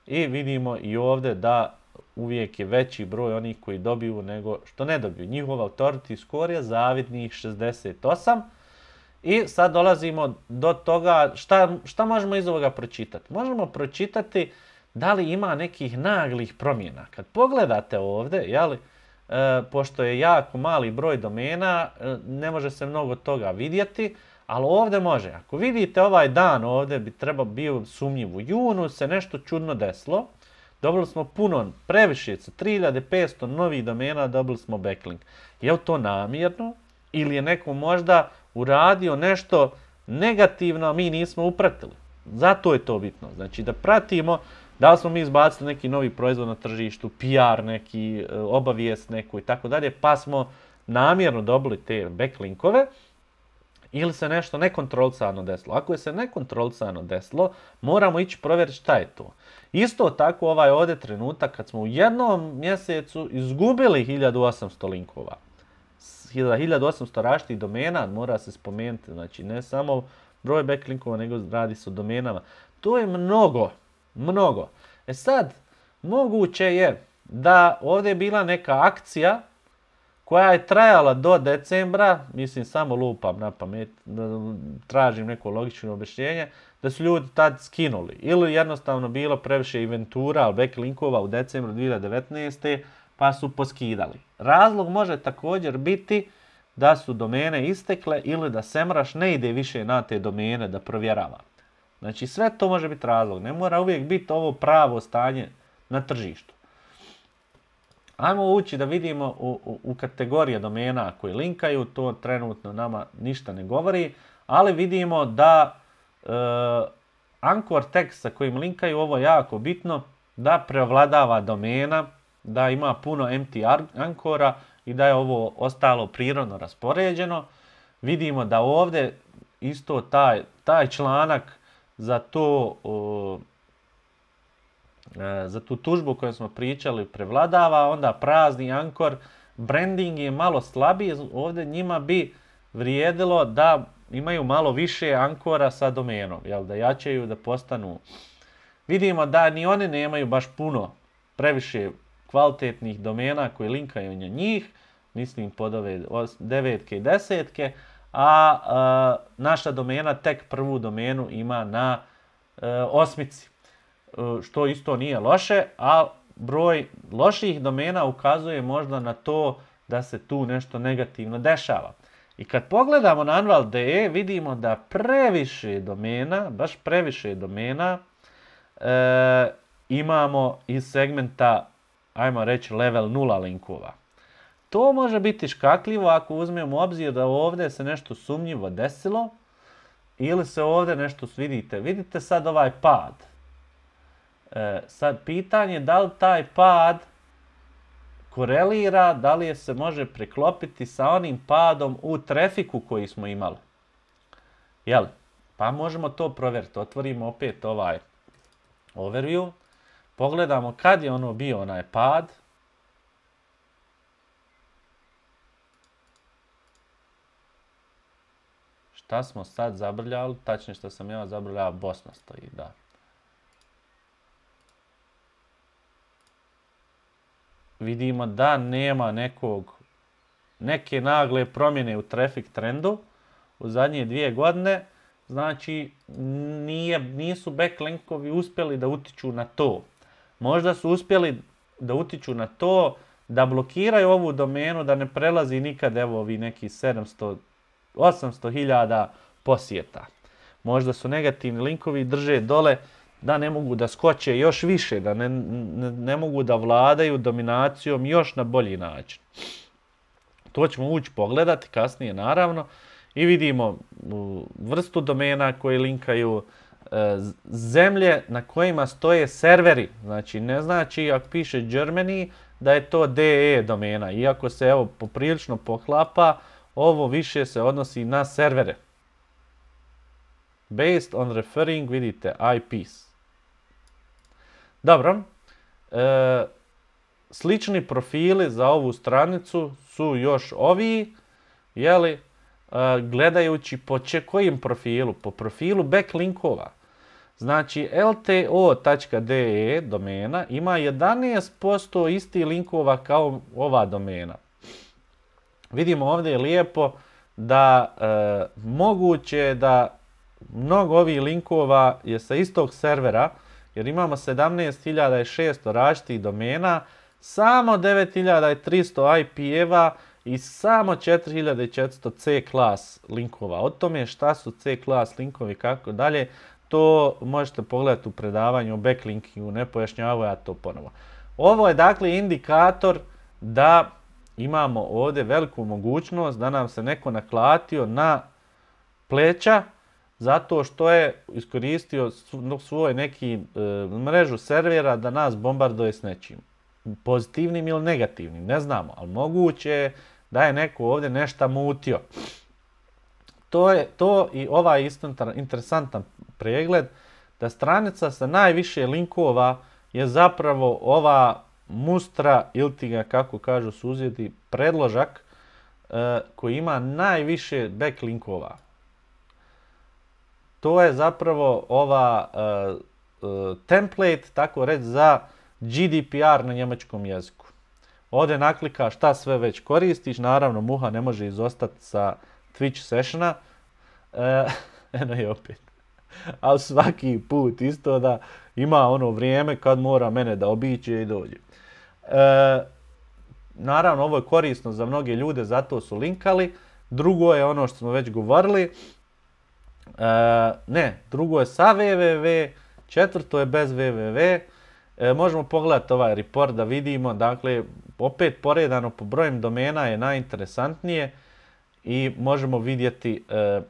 I vidimo i ovdje da uvijek je veći broj onih koji dobiju nego što ne dobiju. Njihov authority score je zavidnih šezdeset osam. I sad dolazimo do toga šta, šta možemo iz ovoga pročitati. Možemo pročitati da li ima nekih naglih promjena. Kad pogledate ovdje, jeli, e, pošto je jako mali broj domena, e, ne može se mnogo toga vidjeti, ali ovdje može. Ako vidite ovaj dan ovdje bi treba bio sumnjiv. U junu se nešto čudno desilo. Dobili smo puno, previše, sa tri hiljade petsto novih domena dobili smo backlink. Je li to namjerno? Ili je neko možda uradio nešto negativno, a mi nismo upratili? Zato je to bitno. Znači da pratimo da li smo mi izbacili neki novi proizvod na tržištu, P R neki, obavijest neku i tako dalje, pa smo namjerno dobili te backlinkove, ili se nešto nekontrolisano desilo. Ako je se nekontrolisano desilo, moramo ići provjeriti šta je to. Isto tako ovaj ovdje trenutak kad smo u jednom mjesecu izgubili hiljadu osamsto linkova. hiljadu osamsto različitih domena mora se spomenuti. Znači ne samo broj backlinkova, nego radi se o domenama. To je mnogo, mnogo. E sad, moguće je da ovdje je bila neka akcija koja je trajala do decembra, mislim samo lupam na pamet, tražim neko logično objašnjenje, da su ljudi tad skinuli. Ili jednostavno bilo previše inventura, backlinkova u decembru dvije hiljade devetnaeste. pa su poskidali. Razlog može također biti da su domene istekle ili da SEMrush ne ide više na te domene da provjerava. Znači sve to može biti razlog, ne mora uvijek biti ovo pravo stanje na tržištu. Ajmo ući da vidimo u, u, u kategorije domena koji linkaju, to trenutno nama ništa ne govori, ali vidimo da e, anchor text sa kojim linkaju, ovo je jako bitno, da prevladava domena, da ima puno empty ankora i da je ovo ostalo prirodno raspoređeno. Vidimo da ovdje isto taj, taj članak za to o, za tu tužbu koju smo pričali prevladava, onda prazni ankor, branding je malo slabiji, ovdje njima bi vrijedilo da imaju malo više ankora sa domenom, jel, da jačaju, da postanu. Vidimo da ni oni nemaju baš puno, previše kvalitetnih domena koji linkaju na njih, mislim pod ove devetke i desetke, a, a naša domena tek prvu domenu ima na e, osmici. Što isto nije loše, a broj loših domena ukazuje možda na to da se tu nešto negativno dešava. I kad pogledamo na Anvald punkt de vidimo da previše domena, baš previše domena, e, imamo iz segmenta, ajmo reći, level nula linkova. To može biti škakljivo ako uzmemo u obzir da ovdje se nešto sumnjivo desilo ili se ovdje nešto vidite. Vidite sad ovaj pad. E, sad pitanje je da li taj pad korelira, da li je se može preklopiti sa onim padom u trafiku koji smo imali. Jel? Pa možemo to provjeriti. Otvorimo opet ovaj overview. Pogledamo kad je ono bio onaj pad. Šta smo sad zabrljali? Tačnije što sam ja zabrljao, Bosna stoji, da. Vidimo da nema nekog, neke nagle promjene u traffic trendu u zadnje dvije godine. znači nije, nisu backlinkovi uspjeli da utiču na to. Možda su uspjeli da utiču na to da blokiraju ovu domenu, da ne prelazi nikad evo ovi neki sedamsto osamsto hiljada posjeta. Možda su negativni linkovi drže dole da ne mogu da skoče još više, da ne, ne, ne mogu da vladaju dominacijom još na bolji način. To ćemo ući pogledati kasnije naravno i vidimo vrstu domena koje linkaju, zemlje na kojima stoje serveri. Znači ne znači ako piše Germany da je to D E domena, iako se evo poprilično poklapa, ovo više se odnosi na servere. Based on referring, vidite, I Ps. Dobro. E, slični profili za ovu stranicu su još ovi, jeli, e, gledajući po če, kojim profilu? Po profilu backlinkova. Znači, L T O tačka D E domena ima jedanaest posto istih linkova kao ova domena. Vidimo ovdje je lijepo da e, moguće da mnogo ovih linkova je sa istog servera, jer imamo sedamnaest hiljada šesto različitih domena, samo devet hiljada tristo I P-eva i samo četiri hiljade četiristo C-class linkova. O tome šta su C-class linkovi, kako dalje, to možete pogledati u predavanju o backlinkingu, ne pojašnjavaju ja to ponovo. Ovo je dakle indikator da imamo ovdje veliku mogućnost da nam se neko naklatio na pleća zato što je iskoristio svoj neki e, mrežu servera da nas bombarduje s nečim. Pozitivnim ili negativnim, ne znamo, ali moguće je da je neko ovdje nešto mutio. To je to i ovaj isto interesantan pregled, da stranica sa najviše linkova je zapravo ova mustra ili ti ga, kako kažu susjedi, predložak e, koji ima najviše backlinkova. To je zapravo ova e, e, template, tako reći, za G D P R na njemačkom jeziku. Ovdje naklikaš šta sve već koristiš, naravno muha ne može izostati sa Twitch sessiona. E, eno je opet. Ali svaki put isto da ima ono vrijeme kad mora mene da obiđe i dođe. E, naravno ovo je korisno za mnoge ljude, zato su linkali. Drugo je ono što smo već govorili. E, ne, drugo je sa www, četvrto je bez www. E, možemo pogledati ovaj report da vidimo, dakle, opet poredano po brojem domena je najinteresantnije i možemo vidjeti e,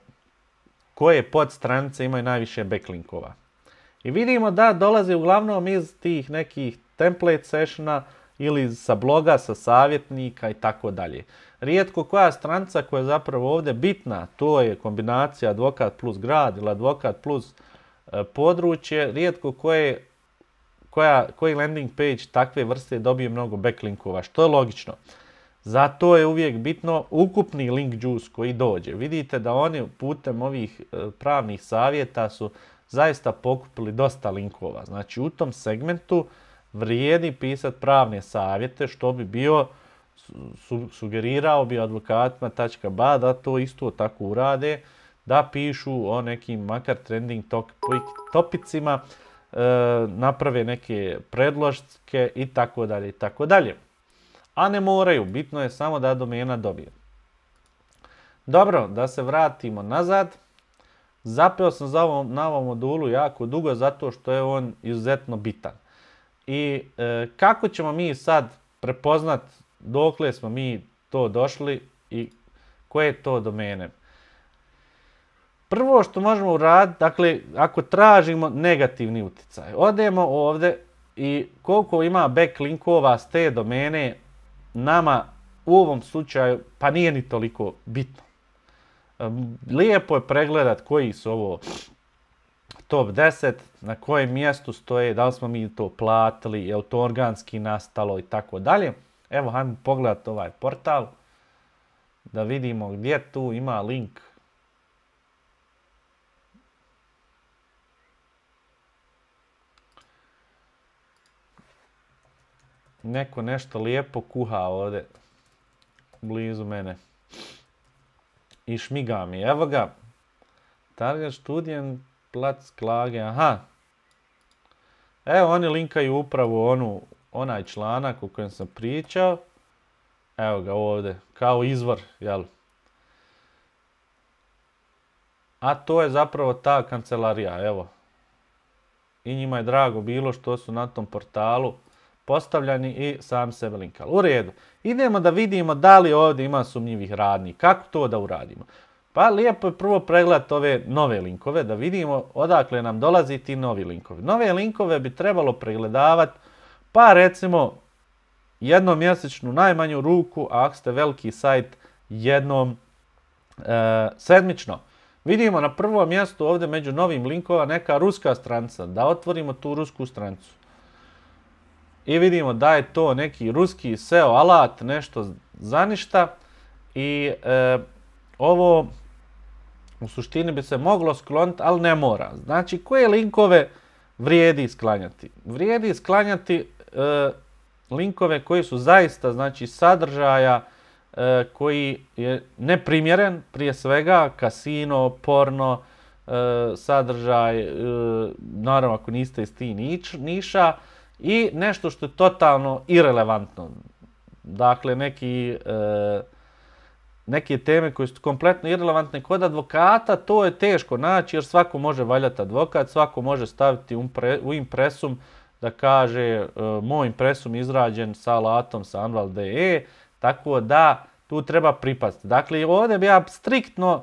koje podstranice imaju najviše backlinkova. I vidimo da dolaze uglavnom iz tih nekih template sessiona ili sa bloga, sa savjetnika i tako dalje. Rijetko koja stranica koja je zapravo ovdje bitna, to je kombinacija advokat plus grad ili advokat plus e, područje, rijetko koje, koja, koji landing page takve vrste dobije mnogo backlinkova, što je logično. Zato je uvijek bitno ukupni link juice koji dođe. Vidite da oni putem ovih e, pravnih savjeta su zaista pokupili dosta linkova. Znači u tom segmentu vrijedi pisati pravne savjete, što bi bio, su, sugerirao bi advokatima .ba da to isto tako urade, da pišu o nekim makar trending topicima, e, naprave neke predložke i tako dalje i tako dalje. A ne moraju, bitno je samo da domena dobije. Dobro, da se vratimo nazad. Zapeo sam za ovom, na ovom modulu jako dugo zato što je on izuzetno bitan. I e, kako ćemo mi sad prepoznat dokle smo mi to došli i koje to domene? Prvo što možemo uraditi, dakle, ako tražimo negativni utjecaj, odemo ovdje i koliko ima backlinkova s te domene, nama u ovom slučaju pa nije ni toliko bitno. Lijepo je pregledat koji su ovo top deset, na kojem mjestu stoje, da li smo mi to platili, je li to organski nastalo i tako dalje. Evo, hajmo pogledati ovaj portal da vidimo gdje tu ima link. Neko nešto lijepo kuha ovdje blizu mene i šmiga mi. Evo ga, Target Studienplatz Klage, aha. Evo oni linkaju upravo onu, onaj članak o kojem sam pričao. Evo ga ovdje, kao izvor, jel? A to je zapravo ta kancelarija, evo. I njima je drago bilo što su na tom portalu postavljani i sam sebe linkali. U redu. Idemo da vidimo da li ovdje ima sumnjivih radnji. Kako to da uradimo? Pa lijepo je prvo pregledati ove nove linkove, da vidimo odakle nam dolazi ti novi linkovi. Nove linkove bi trebalo pregledavati, pa recimo jednom mjesečnu najmanju ruku, a ako ste veliki sajt, jednom e, sedmično. Vidimo na prvom mjestu ovdje među novim linkova neka ruska stranica, da otvorimo tu rusku stranicu. I vidimo da je to neki ruski S E O alat, nešto za ništa. I e, ovo u suštini bi se moglo skloniti, ali ne mora. Znači, koje linkove vrijedi sklanjati? Vrijedi sklanjati e, linkove koji su zaista, znači, sadržaja e, koji je neprimjeren, prije svega, kasino, porno, e, sadržaj, e, naravno ako niste iz tih nič, niša, i nešto što je totalno irelevantno. Dakle, neki... E, neke teme koje su kompletno irelevantne kod advokata, to je teško naći jer svako može valjati advokat, svako može staviti u impresum da kaže moj impresum izrađen sa alatom sa Anwalt punto de e, tako da tu treba pripaziti. Dakle, ovdje bi ja striktno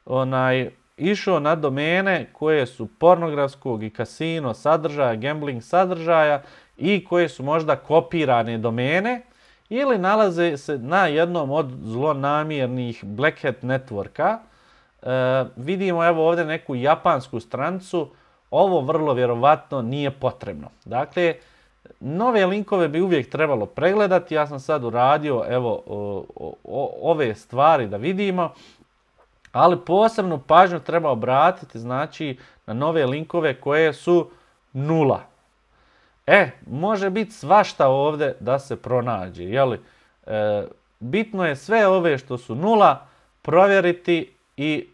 onaj, išao na domene koje su pornografskog i kasino sadržaja, gambling sadržaja i koje su možda kopirane domene, ili nalaze se na jednom od zlonamjernih Black Hat networka. E, vidimo evo ovdje neku japansku stranicu. Ovo vrlo vjerovatno nije potrebno. Dakle, nove linkove bi uvijek trebalo pregledati. Ja sam sad uradio evo o, o, ove stvari da vidimo. Ali posebnu pažnju treba obratiti znači na nove linkove koje su nula. E, može biti svašta ovdje da se pronađe, jeli? E, bitno je sve ove što su nula provjeriti i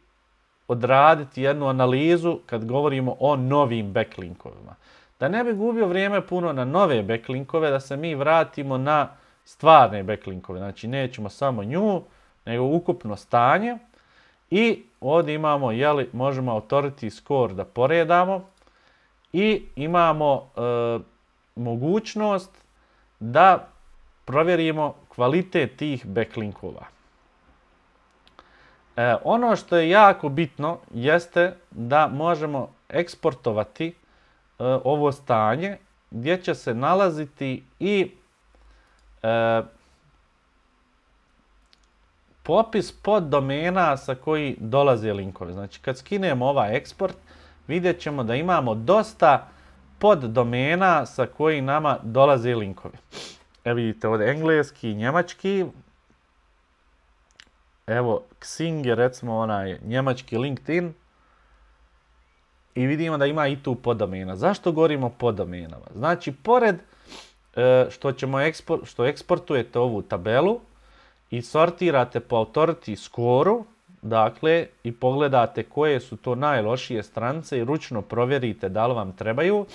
odraditi jednu analizu kad govorimo o novim backlinkovima. Da ne bi gubio vrijeme puno na nove backlinkove, da se mi vratimo na stvarne backlinkove. Znači, nećemo samo nju, nego ukupno stanje. I ovdje imamo, jeli, možemo authority score da poredamo i imamo e, mogućnost da provjerimo kvalitet tih backlinkova. E, ono što je jako bitno jeste da možemo eksportovati e, ovo stanje gdje će se nalaziti i e, popis poddomena sa koji dolaze linkovi. Znači, kad skinemo ovaj eksport, vidjet ćemo da imamo dosta poddomena sa koji nama dolaze linkovi. Evo vidite ovdje engleski, njemački. Evo, Xing je recimo onaj njemački LinkedIn. I vidimo da ima i tu poddomena. Zašto govorimo o poddomenama? Znači, pored što, ćemo ekspor, što eksportujete ovu tabelu i sortirate po authority score-u, dakle, i pogledate koje su to najlošije stranice i ručno provjerite da li vam trebaju.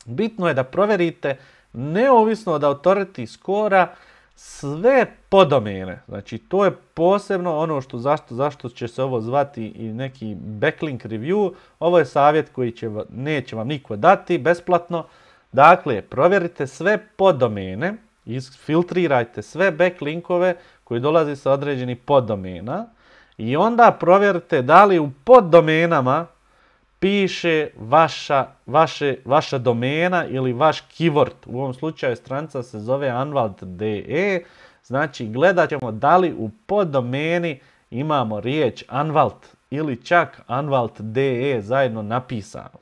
Bitno je da provjerite, neovisno od authority score-a, sve poddomene. Znači, to je posebno ono što zašto, zašto će se ovo zvati i neki backlink review. Ovo je savjet koji će, neće vam niko dati besplatno. Dakle, provjerite sve poddomene, isfiltrirajte sve backlinkove koji dolaze sa određenih poddomena i onda provjerite da li u poddomenama piše vaša, vaše, vaša domena ili vaš keyword. U ovom slučaju stranica se zove Anwalt punto de e. Znači, gledat ćemo da li u poddomeni imamo riječ Anwalt ili čak Anwalt punto de e zajedno napisano.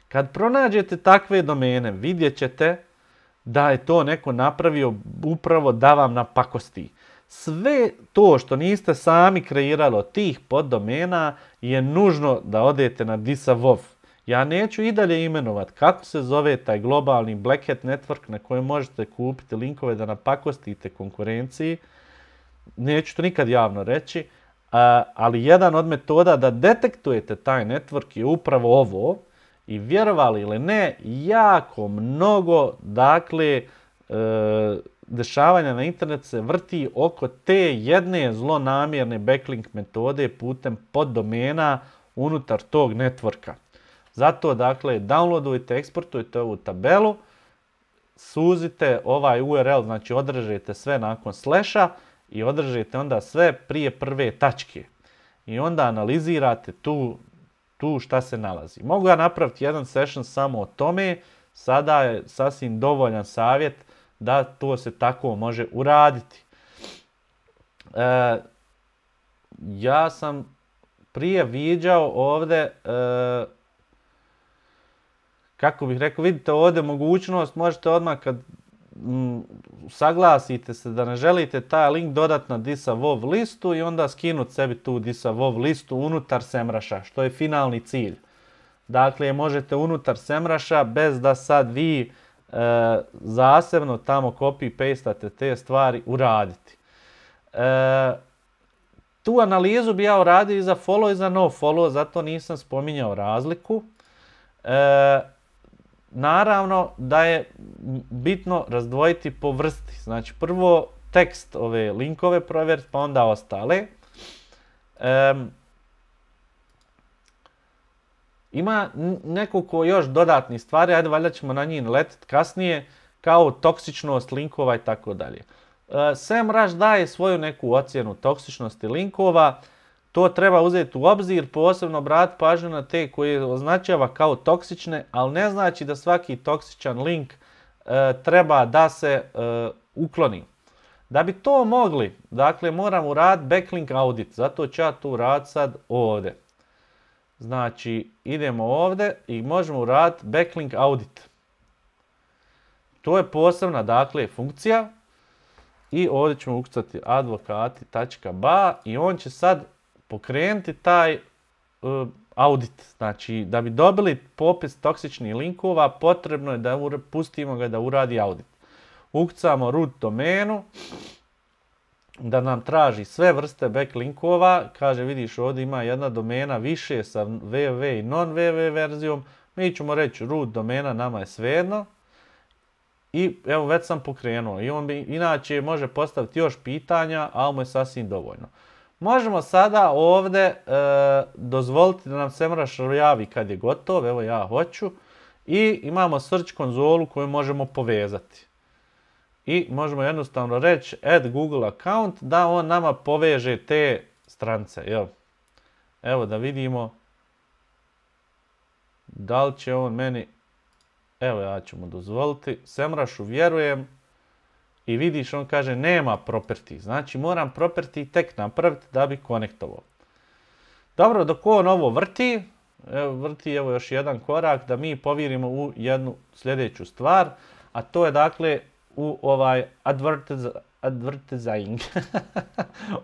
Kad pronađete takve domene, vidjet ćete da je to neko napravio upravo da vam napakosti. Sve to što niste sami kreirali od tih poddomena je nužno da odete na Disavov. Ja neću i dalje imenovat kako se zove taj globalni Black Hat network na kojem možete kupiti linkove da napakostite konkurenciji. Neću to nikad javno reći, ali jedan od metoda da detektujete taj network je upravo ovo i vjerovali ili ne, jako mnogo, dakle, dešavanja na internetu se vrti oko te jedne zlonamjerne backlink metode putem poddomena unutar tog networka. Zato, dakle, downloadujte, eksportujte ovu tabelu, suzite ovaj U R L, znači održite sve nakon slasha i održite onda sve prije prve tačke. I onda analizirate tu, tu šta se nalazi. Mogu ja napraviti jedan session samo o tome, sada je sasvim dovoljan savjet da to se tako može uraditi. E, ja sam prije viđao ovdje, e, kako bih rekao, vidite ovdje mogućnost, možete odmah kad m, saglasite se da ne želite taj link dodat na disavov listu i onda skinuti sebi tu disavov listu unutar SEMruša, što je finalni cilj. Dakle, možete unutar SEMruša bez da sad vi e, zasebno tamo copy-pastate te stvari uraditi. E, tu analizu bi ja uradio i za follow i za no follow, zato nisam spominjao razliku. E, naravno da je bitno razdvojiti po vrsti. Znači prvo tekst ove linkove provjeriti pa onda ostale. E, ima nekoliko još dodatnih stvari, ajde valjda ćemo na njih letiti kasnije, kao toksičnost linkova i tako dalje. SEMrush daje svoju neku ocjenu toksičnosti linkova, to treba uzeti u obzir, posebno obratiti pažnju na te koje označava kao toksične, ali ne znači da svaki toksičan link e, treba da se e, ukloni. Da bi to mogli, dakle moramo uraditi backlink audit, zato ću ja to uraditi sad ovdje. Znači idemo ovdje i možemo uraditi backlink audit. To je posebna, dakle, funkcija. I ovdje ćemo ukucati advokati tačka ba i on će sad pokrenuti taj uh, audit. Znači, da bi dobili popis toksičnih linkova, potrebno je da pustimo ga da uradi audit. Ukucamo root domenu, da nam traži sve vrste backlinkova. Kaže, vidiš, ovdje ima jedna domena više sa www i non-www verzijom. Mi ćemo reći root domena, nama je svejedno. I evo već sam pokrenuo i on bi inače može postaviti još pitanja, ali mu je sasvim dovoljno. Možemo sada ovdje e, dozvoliti da nam SEMrush javi kad je gotov, evo ja hoću. I imamo search konzolu koju možemo povezati. I možemo jednostavno reći add Google account da on nama poveže te strance. Evo, evo da vidimo da li će on meni... Evo ja ću mu dozvoliti, SEMrushu vjerujem i vidiš on kaže nema property, znači moram property tek napraviti da bi konektovao. Dobro, dok on ovo vrti, evo, vrti evo još jedan korak da mi povjerimo u jednu sljedeću stvar, a to je dakle u ovaj advertis advertising,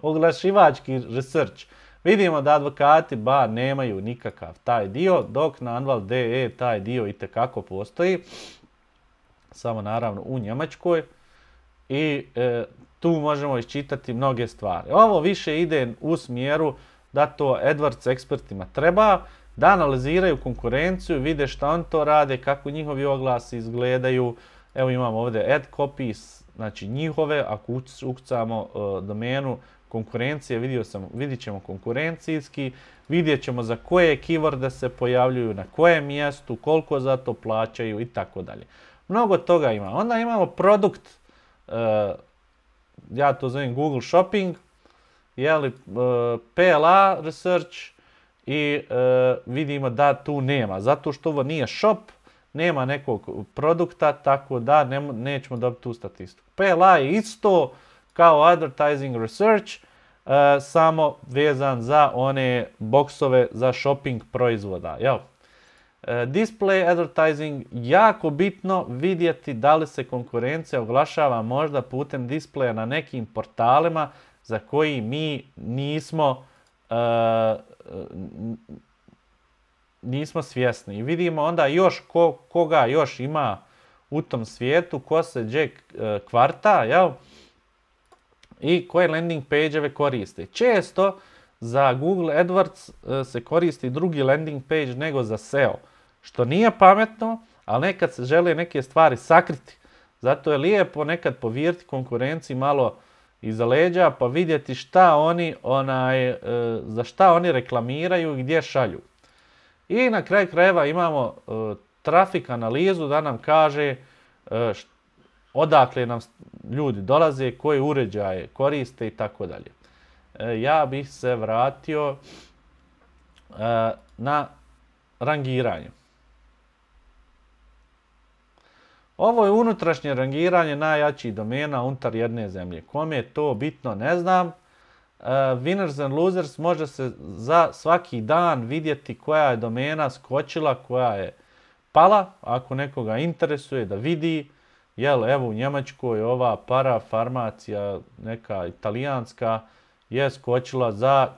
oglašivački research. Vidimo da advokati ba nemaju nikakav taj dio, dok na Anwalt punto de taj dio itekako postoji, samo naravno u Njemačkoj i e, tu možemo iščitati mnoge stvari. Ovo više ide u smjeru da to AdWords ekspertima treba, da analiziraju konkurenciju, vide šta on to rade, kako njihovi oglasi izgledaju. Evo imamo ovdje ad copies, znači njihove, ako ukucamo uh, domenu konkurencije, vidio sam, vidjet ćemo konkurencijski, vidjet ćemo za koje keyworde se pojavljuju, na kojem mjestu, koliko za to plaćaju i tako dalje. Mnogo toga ima. Onda imamo produkt, uh, ja to zovem Google Shopping, jeli, uh, P L A Research i uh, vidimo da tu nema. Zato što ovo nije shop, nema nekog produkta, tako da ne, nećemo dobiti tu statistiku. P L A je isto kao Advertising Research, uh, samo vezan za one boksove za shopping proizvoda. Jel? Uh, display advertising, jako bitno vidjeti da li se konkurencija oglašava možda putem displeja na nekim portalima za koji mi nismo uh, nismo svjesni. I vidimo onda još ko, koga još ima u tom svijetu, ko se gdje kvarta, jel? I koje landing page-eve koriste. Često za Google AdWords se koristi drugi landing page nego za S E O. Što nije pametno, ali nekad se žele neke stvari sakriti. Zato je lijepo nekad povirti konkurenciji malo iza leđa pa vidjeti šta oni, onaj, za šta oni reklamiraju i gdje šalju. I na kraju krajeva imamo trafik analizu da nam kaže odakle nam ljudi dolaze, koje uređaje koriste i tako dalje. Ja bih se vratio na rangiranje. Ovo je unutrašnje rangiranje najjačih domena unutar jedne zemlje. Kome je to bitno, ne znam. Winners and losers može se za svaki dan vidjeti koja je domena skočila, koja je pala. Ako nekoga interesuje da vidi, jel, evo u Njemačkoj ova parafarmacija, neka italijanska, je skočila za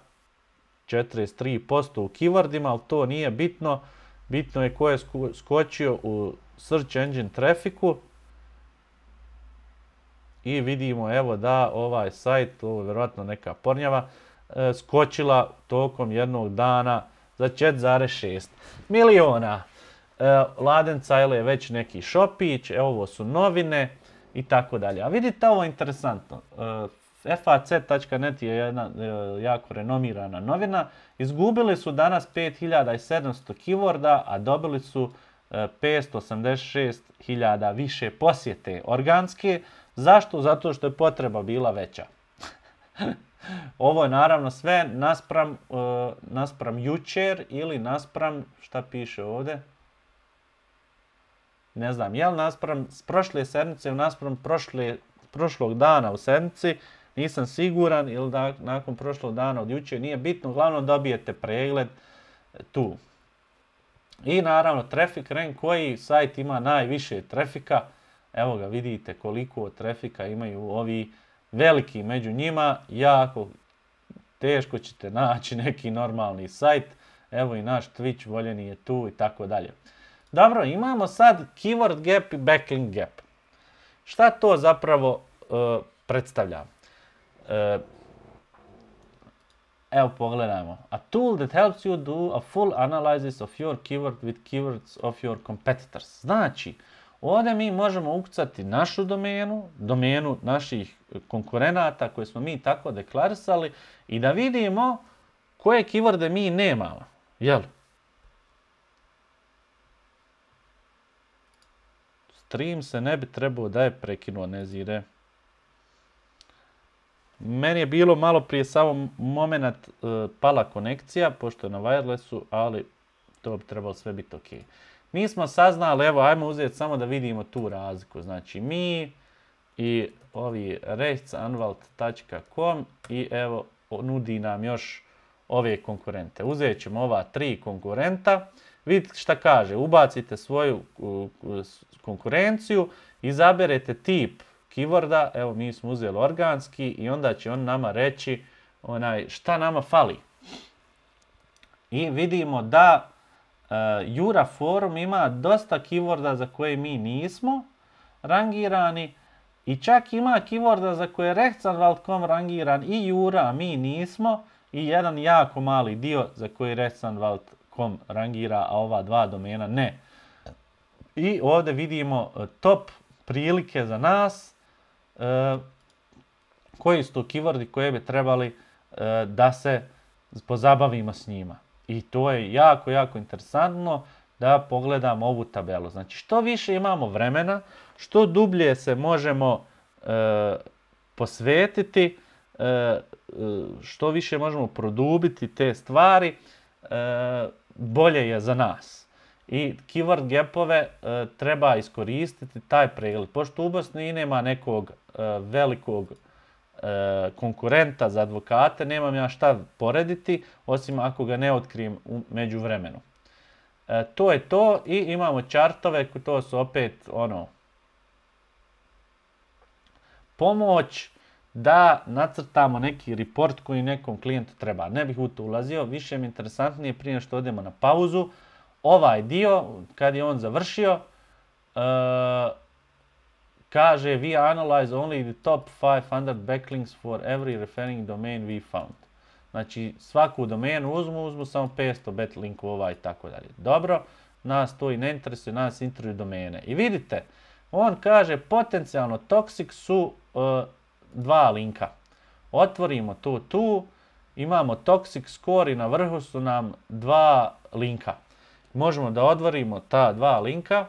četrdeset tri posto u keywordima, ali to nije bitno. Bitno je ko je skočio u search engine trafiku. I vidimo evo da ovaj sajt, ovo je vjerojatno neka pornjava, skočila tokom jednog dana za četiri zarez šest miliona. Laden Cajle je već neki šopić, evo ovo su novine i tako dalje. A vidite ovo interesantno. F A C tačka net je jedna jako renomirana novina. Izgubili su danas pet hiljada sedamsto keyworda, a dobili su petsto osamdeset šest hiljada više posjete organske. Zašto? Zato što je potreba bila veća. Ovo je naravno sve naspram, uh, naspram jučer ili naspram, šta piše ovdje? Ne znam, jel naspram s prošle sedmice ili naspram prošle, prošlog dana u sedmici, nisam siguran, ili da, nakon prošlog dana od jučer, nije bitno, uglavnom dobijete pregled tu. I naravno traffic rank, koji sajt ima najviše trafika. Evo ga, vidite koliko trafika imaju ovi veliki među njima. Jako teško ćete naći neki normalni sajt. Evo i naš Twitch voljeni je tu i tako dalje. Dobro, imamo sad keyword gap i backlink gap. Šta to zapravo uh, predstavlja? Uh, Evo pogledajmo. A tool that helps you do a full analysis of your keyword with keywords of your competitors. Znači, ovdje mi možemo ukucati našu domenu, domenu naših konkurenata koje smo mi tako deklarisali i da vidimo koje keyworde mi nemamo. Jel? Stream se ne bi trebao da je prekinuo, ne zire. Meni je bilo malo prije samo moment uh, pala konekcija, pošto je na wirelessu, ali to bi trebalo sve biti ok. Mi smo saznali, evo, ajmo uzeti samo da vidimo tu razliku. Znači, mi i ovi rechtsanwalt tačka com i evo, nudi nam još ove konkurente. Uzet ćemo ova tri konkurenta. Vidite šta kaže, ubacite svoju uh, konkurenciju, izaberete tip keyworda, evo mi smo uzeli organski i onda će on nama reći onaj, šta nama fali. I vidimo da uh, Jura Forum ima dosta keyworda za koje mi nismo rangirani i čak ima keyworda za koje je rechtsanwalt tačka com rangiran i Jura, a mi nismo, i jedan jako mali dio za koji rechtsanwalt tačka com rangira, a ova dva domena ne. I ovdje vidimo uh, top prilike za nas, Uh, koji su to keywordi koje bi trebali uh, da se pozabavimo s njima. I to je jako, jako interesantno da pogledamo ovu tabelu. Znači, što više imamo vremena, što dublje se možemo uh, posvetiti, uh, što više možemo produbiti te stvari, uh, bolje je za nas. I keyword gapove uh, treba iskoristiti taj pregled. Pošto u Bosni nema nekog uh, velikog uh, konkurenta za advokate, nemam ja šta porediti, osim ako ga ne otkrijem u međuvremenu. Uh, to je to i imamo chartove, to su opet ono pomoć da nacrtamo neki report koji nekom klijentu treba. Ne bih u to ulazio, više mi je interesantnije prije što odemo na pauzu. Ovaj dio, kad je on završio, uh, kaže we analyze only the top five hundred backlinks for every referring domain we found. Znači svaku domenu uzmu, uzmu samo petsto backlinkova i tako dalje. Dobro, nas to i ne interesuje, nas interesuju domene. I vidite, on kaže potencijalno toksik su uh, dva linka. Otvorimo to tu, imamo toxic score i na vrhu su nam dva linka. Možemo da odvorimo ta dva linka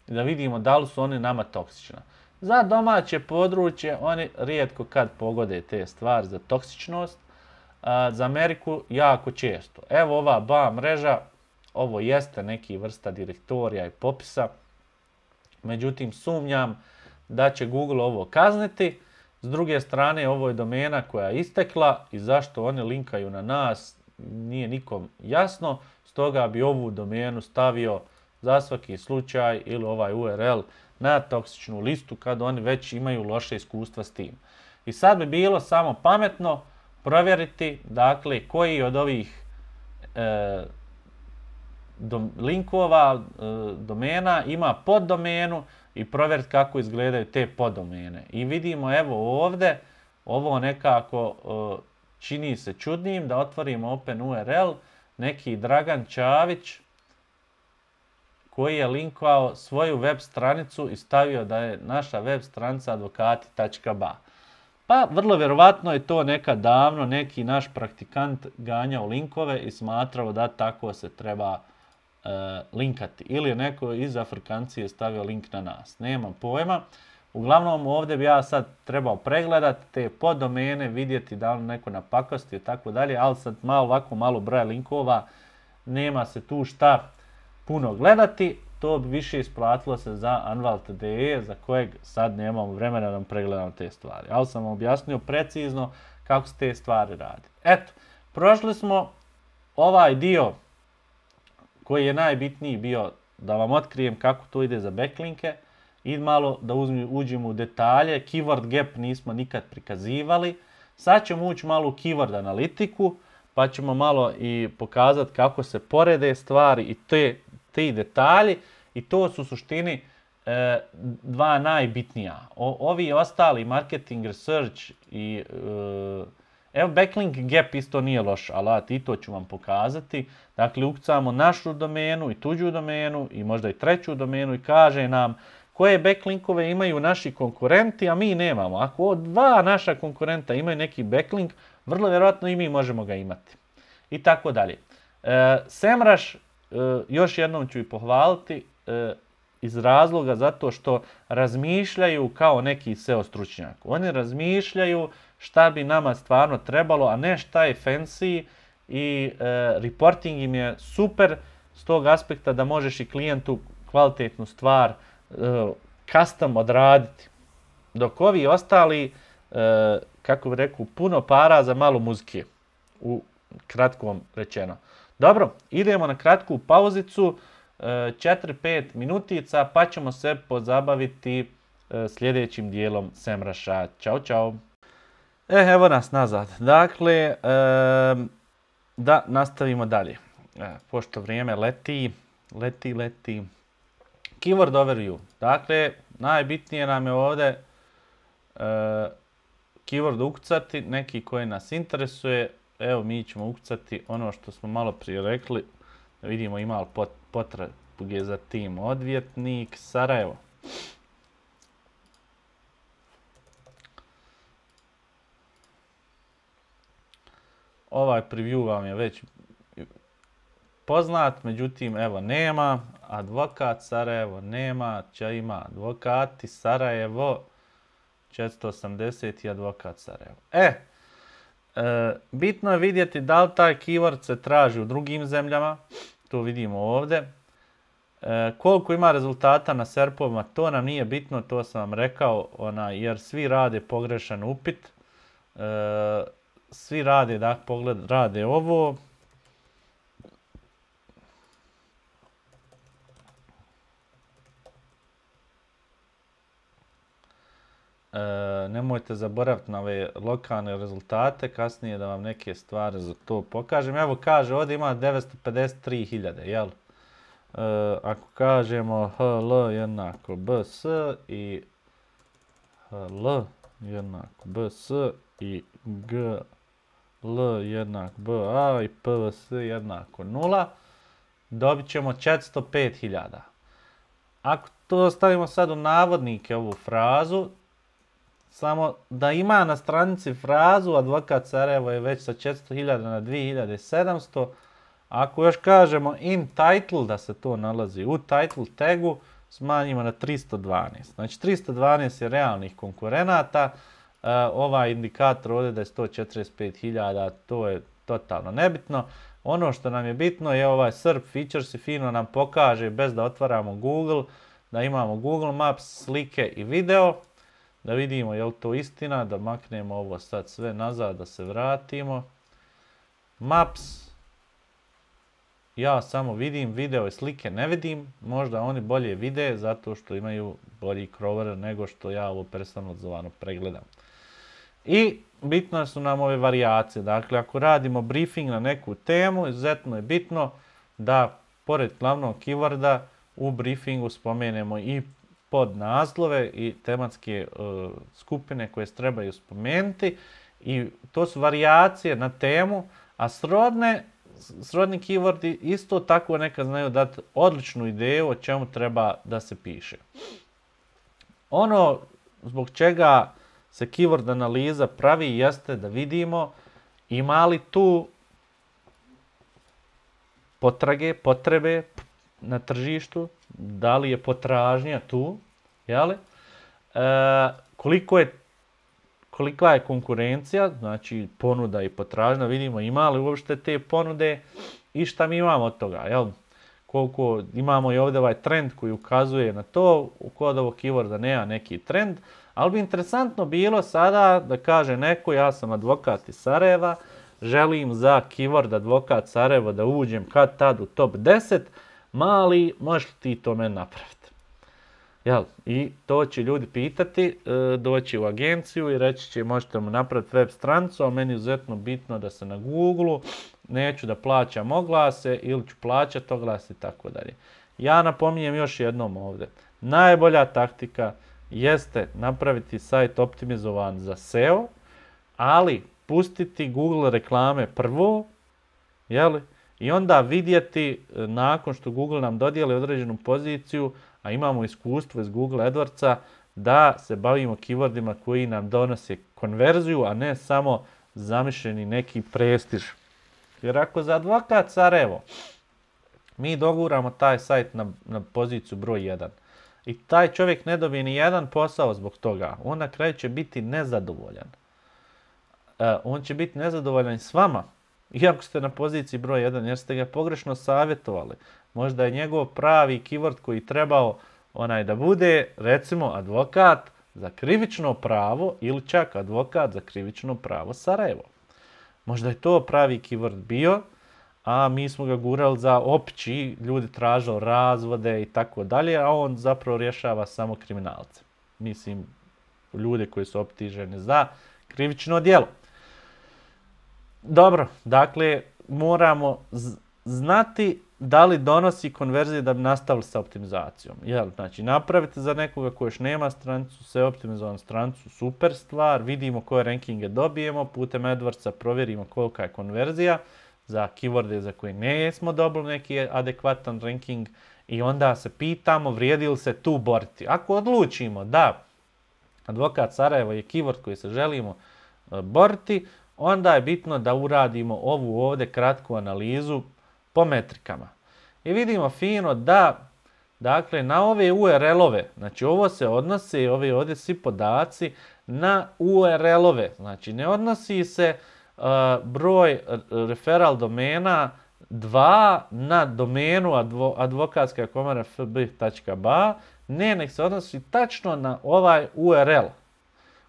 i da vidimo da li su oni nama toksična. Za domaće područje oni rijetko kad pogode te stvari za toksičnost, a za Ameriku jako često. Evo ova B A mreža, ovo jeste neki vrsta direktorija i popisa, međutim sumnjam da će Google ovo kazniti. S druge strane, ovo je domena koja je istekla i zašto oni linkaju na nas nije nikom jasno, stoga bi ovu domenu stavio za svaki slučaj ili ovaj U R L na toksičnu listu kad oni već imaju loše iskustva s tim. I sad bi bilo samo pametno provjeriti dakle koji od ovih e, dom, linkova, e, domena ima poddomenu i provjeriti kako izgledaju te poddomene. I vidimo evo ovdje, ovo nekako e, čini se čudnim da otvorimo Open U R L, neki Dragan Čavić koji je linkovao svoju web stranicu i stavio da je naša web stranica advokati tačka ba. Pa vrlo vjerovatno je to nekad davno neki naš praktikant ganjao linkove i smatrao da tako se treba e, linkati. Ili je neko iz Afrikancije stavio link na nas. Nemam pojma. Uglavnom ovdje bi ja sad trebao pregledati te poddomene, vidjeti da li neko napakosti i tako dalje, ali sad malo ovako malo broja linkova, nema se tu šta puno gledati, to bi više isplatilo se za Anwalt punto de za kojeg sad nemamo vremena da vam pregledam te stvari. Ali sam vam objasnio precizno kako se te stvari radi. Eto, prošli smo ovaj dio koji je najbitniji bio da vam otkrijem kako to ide za backlinke i malo da uzmi, uđemo u detalje. Keyword gap nismo nikad prikazivali. Sad ćemo ući malo u keyword analitiku pa ćemo malo i pokazati kako se porede stvari i te ti detalji i to su u suštini e, dva najbitnija. O, ovi ostali marketing research i e, evo backlink gap isto nije loš alat i to ću vam pokazati. Dakle ukucamo našu domenu i tuđu domenu i možda i treću domenu i kaže nam koje backlinkove imaju naši konkurenti, a mi nemamo. Ako dva naša konkurenta imaju neki backlink, vrlo vjerojatno i mi možemo ga imati. I tako dalje. E, Semrush Uh, još jednom ću i pohvaliti uh, iz razloga zato što razmišljaju kao neki S E O stručnjak. Oni razmišljaju šta bi nama stvarno trebalo, a ne šta je fancy i uh, reporting im je super s tog aspekta da možeš i klijentu kvalitetnu stvar uh, custom odraditi. Dok ovi ostali, uh, kako bi rekao, puno para za malo muzike, u kratkom rečeno. Dobro, idemo na kratku pauzicu, četiri pet minutica, pa ćemo se pozabaviti sljedećim dijelom Semrusha. Ćao, čao. E, evo nas nazad. Dakle, e, da nastavimo dalje. E, pošto vrijeme leti, leti, leti. Keyword overview. Dakle, najbitnije nam je ovdje e, keyword ukucati, neki koji nas interesuje. Evo, mi ćemo ukucati ono što smo malo prije rekli. Da vidimo ima li potrage za tim. Odvjetnik Sarajevo. Ovaj preview vam je već poznat, međutim, evo, nema. Advokat Sarajevo nema. Če ima advokati Sarajevo. četiristo osamdeset i advokat Sarajevo. E, E, bitno je vidjeti da li taj keyword se traži u drugim zemljama, to vidimo ovdje. E, koliko ima rezultata na serpovima, to nam nije bitno, to sam vam rekao, ona, jer svi rade pogrešan upit. E, svi rade, da pogled, rade ovo. E, nemojte zaboraviti na ove lokalne rezultate, kasnije da vam neke stvari za to pokažem. Evo kaže, ovdje ima devetsto pedeset tri hiljade, jel? E, ako kažemo H L jednako B S i H L jednako B S i G L jednak B A i P V S jednako nula, dobit ćemo četiristo pet hiljada. Ako to stavimo sad u navodnike ovu frazu, samo da ima na stranici frazu advokat Sarajevo je već sa četiristo hiljada na dvije hiljade sedamsto. Ako još kažemo in title da se to nalazi u title tagu, smanjimo na tristo dvanaest. Znači tristo dvanaest je realnih konkurenata. Uh, ovaj indikator ovdje da je sto četrdeset pet hiljada, to je totalno nebitno. Ono što nam je bitno je ovaj S E R P features i fino nam pokaže bez da otvaramo Google, da imamo Google Maps, slike i video. Da vidimo je li to istina, da maknemo ovo sad sve nazad, da se vratimo. Maps. Ja samo vidim, video i slike ne vidim. Možda oni bolje vide zato što imaju bolji crawler nego što ja ovo personalizovano pregledam. I bitno su nam ove varijacije. Dakle, ako radimo briefing na neku temu, izuzetno je bitno da pored glavnog keyworda u briefingu spomenemo i podnaslove i tematske uh, skupine koje se trebaju spomenuti. I to su varijacije na temu, a srodne Srodni keywordi isto tako nekad znaju dati odličnu ideju o čemu treba da se piše. Ono zbog čega se keyword analiza pravi jeste da vidimo ima li tu potrage, potrebe na tržištu, da li je potražnja tu, jeli? E, koliko je kolika je konkurencija, znači ponuda i potražnja, vidimo ima li uopšte te ponude i šta mi imamo od toga, jel? Koliko imamo i ovdje ovaj trend koji ukazuje na to, kod ovog keyworda nema neki trend, ali bi interesantno bilo sada da kaže neko, ja sam advokat iz Sarajeva, želim za keyword advokat Sarajevo da uđem kad tad u top deset, mali, možeš li ti to meni napraviti? Jel? I to će ljudi pitati, doći u agenciju i reći će možete mu napraviti web stranicu, a meni je izuzetno bitno da se na Google-u, neću da plaćam oglase ili ću plaćati oglase i tako dalje. Ja napominjem još jednom ovdje, najbolja taktika jeste napraviti sajt optimizovan za S E O, ali pustiti Google reklame prvo, jel? I onda vidjeti nakon što Google nam dodijeli određenu poziciju, a imamo iskustvo iz Google AdWordsa, da se bavimo keywordima koji nam donose konverziju, a ne samo zamišljeni neki prestiž. Jer ako za advokat Sarajevo mi doguramo taj sajt na, na poziciju broj jedan i taj čovjek ne dobije ni jedan posao zbog toga, on na kraju će biti nezadovoljan. E, on će biti nezadovoljan s vama, iako ste na poziciji broj jedan, jer ste ga pogrešno savjetovali. Možda je njegov pravi keyword koji trebao onaj da bude, recimo, advokat za krivično pravo ili čak advokat za krivično pravo Sarajevo. Možda je to pravi keyword bio, a mi smo ga gurali za opći, ljudi tražili razvode i tako dalje, a on zapravo rješava samo kriminalce. Mislim, ljude koji su optuženi za krivično djelo. Dobro, dakle, moramo znati da li donosi konverzije da bi nastavili sa optimizacijom. Jel, znači, napravite za nekoga ko još nema stranicu, sve optimizovanu stranicu, super stvar, vidimo koje rankinge dobijemo, putem AdWordsa provjerimo kolika je konverzija za keyworde za koje ne smo dobili neki adekvatan ranking i onda se pitamo vrijedi li se tu boriti. Ako odlučimo da advokat Sarajevo je keyword koji se želimo boriti, onda je bitno da uradimo ovu ovdje kratku analizu po metrikama. I vidimo fino da, dakle, na ove U R L-ove, znači ovo se odnosi, ove ovdje svi podaci, na U R L-ove. Znači ne odnosi se uh, broj referral domena dva na domenu advo, advokatska komora f b tačka b a, ne, nek se odnosi tačno na ovaj U R L.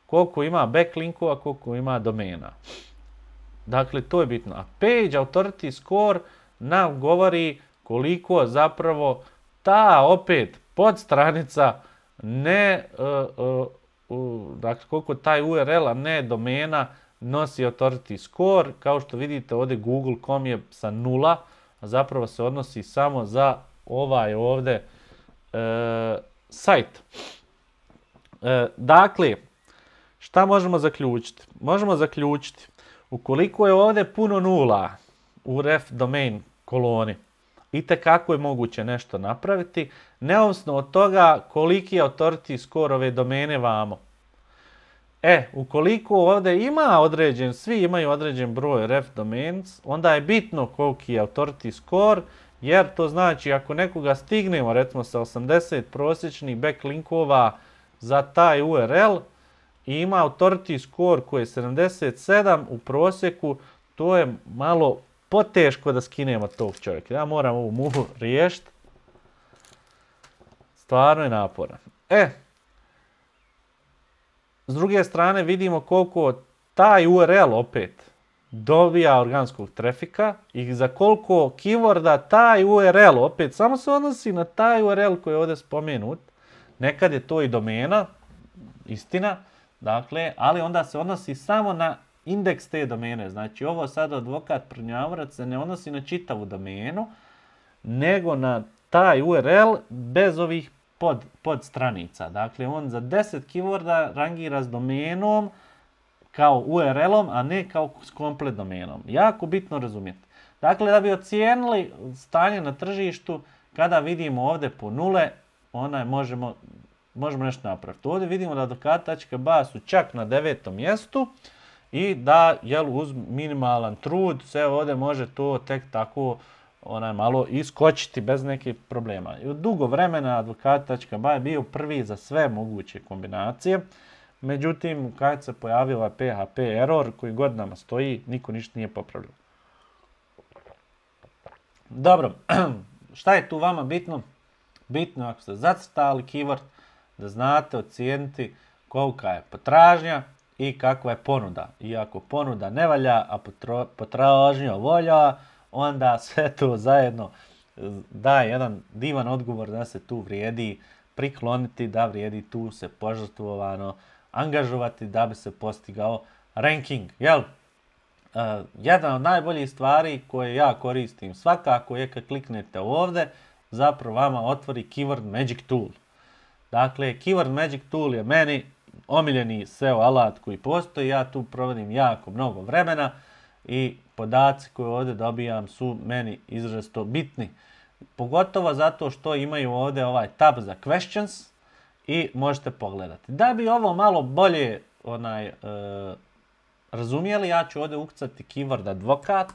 Koliko ima backlinkova, koliko ima domena. Dakle, to je bitno. A page authority score nam govori koliko zapravo ta opet podstranica ne, uh, uh, uh, dakle koliko taj U R L, a ne domena nosi authority score. Kao što vidite ovdje google dot com je sa nula, a zapravo se odnosi samo za ovaj ovdje uh, sajt. Uh, dakle, šta možemo zaključiti? Možemo zaključiti Ukoliko je ovdje puno nula u ref domain koloni, itekako je moguće nešto napraviti, neovisno od toga koliki je authority score ove domene vamo. E, ukoliko ovdje ima određen, svi imaju određen broj ref domains, onda je bitno koliki je authority score, jer to znači ako nekoga stignemo, recimo sa osamdeset prosječnih backlinkova za taj U R L i ima authority score koji je sedamdeset sedam u prosjeku, to je malo poteško da skinemo tog čovjeka. Ja moram ovu muhu riješiti. Stvarno je naporan. E, s druge strane vidimo koliko taj U R L opet dobija organskog trafika i za koliko keyworda taj U R L opet samo se odnosi na taj U R L koji je ovdje spomenut. Nekad je to i domena, istina, dakle, ali onda se odnosi samo na indeks te domene. Znači ovo sad advokat prnjavorac se ne odnosi na čitavu domenu, nego na taj U R L bez ovih pod, pod stranica. Dakle, on za deset keyworda rangira s domenom kao U R L-om, a ne kao s komplet domenom. Jako bitno razumjeti. Dakle, da bi ocijenili stanje na tržištu, kada vidimo ovdje po nule, onaj možemo, možemo nešto napraviti. Ovdje vidimo da advokat tačka ba su čak na devetom mjestu i da jel, uz minimalan trud se ovdje može to tek tako onaj, malo iskočiti bez nekih problema. I dugo vremena advokat tačka ba je bio prvi za sve moguće kombinacije. Međutim, kad se pojavio ovaj P H P error koji godinama stoji, niko ništa nije popravljao. Dobro, šta je tu vama bitno? Bitno ako ste zacrtali keyword, da znate ocijeniti kolika je potražnja i kakva je ponuda. I ako ponuda ne valja, a potražnja volja, onda sve to zajedno daje jedan divan odgovor da se tu vrijedi prikloniti, da vrijedi tu se požrtvovano angažovati da bi se postigao ranking. Jel? Uh, jedna od najboljih stvari koje ja koristim svakako je kad kliknete ovdje, zapravo vama otvori Keyword Magic Tool. Dakle, Keyword Magic Tool je meni omiljeni S E O alat koji postoji. Ja tu provodim jako mnogo vremena i podaci koje ovdje dobijam su meni izrazito bitni. Pogotovo zato što imaju ovdje ovaj tab za questions i možete pogledati. Da bi ovo malo bolje onaj, e, razumijeli, ja ću ovdje ukucati keyword advokat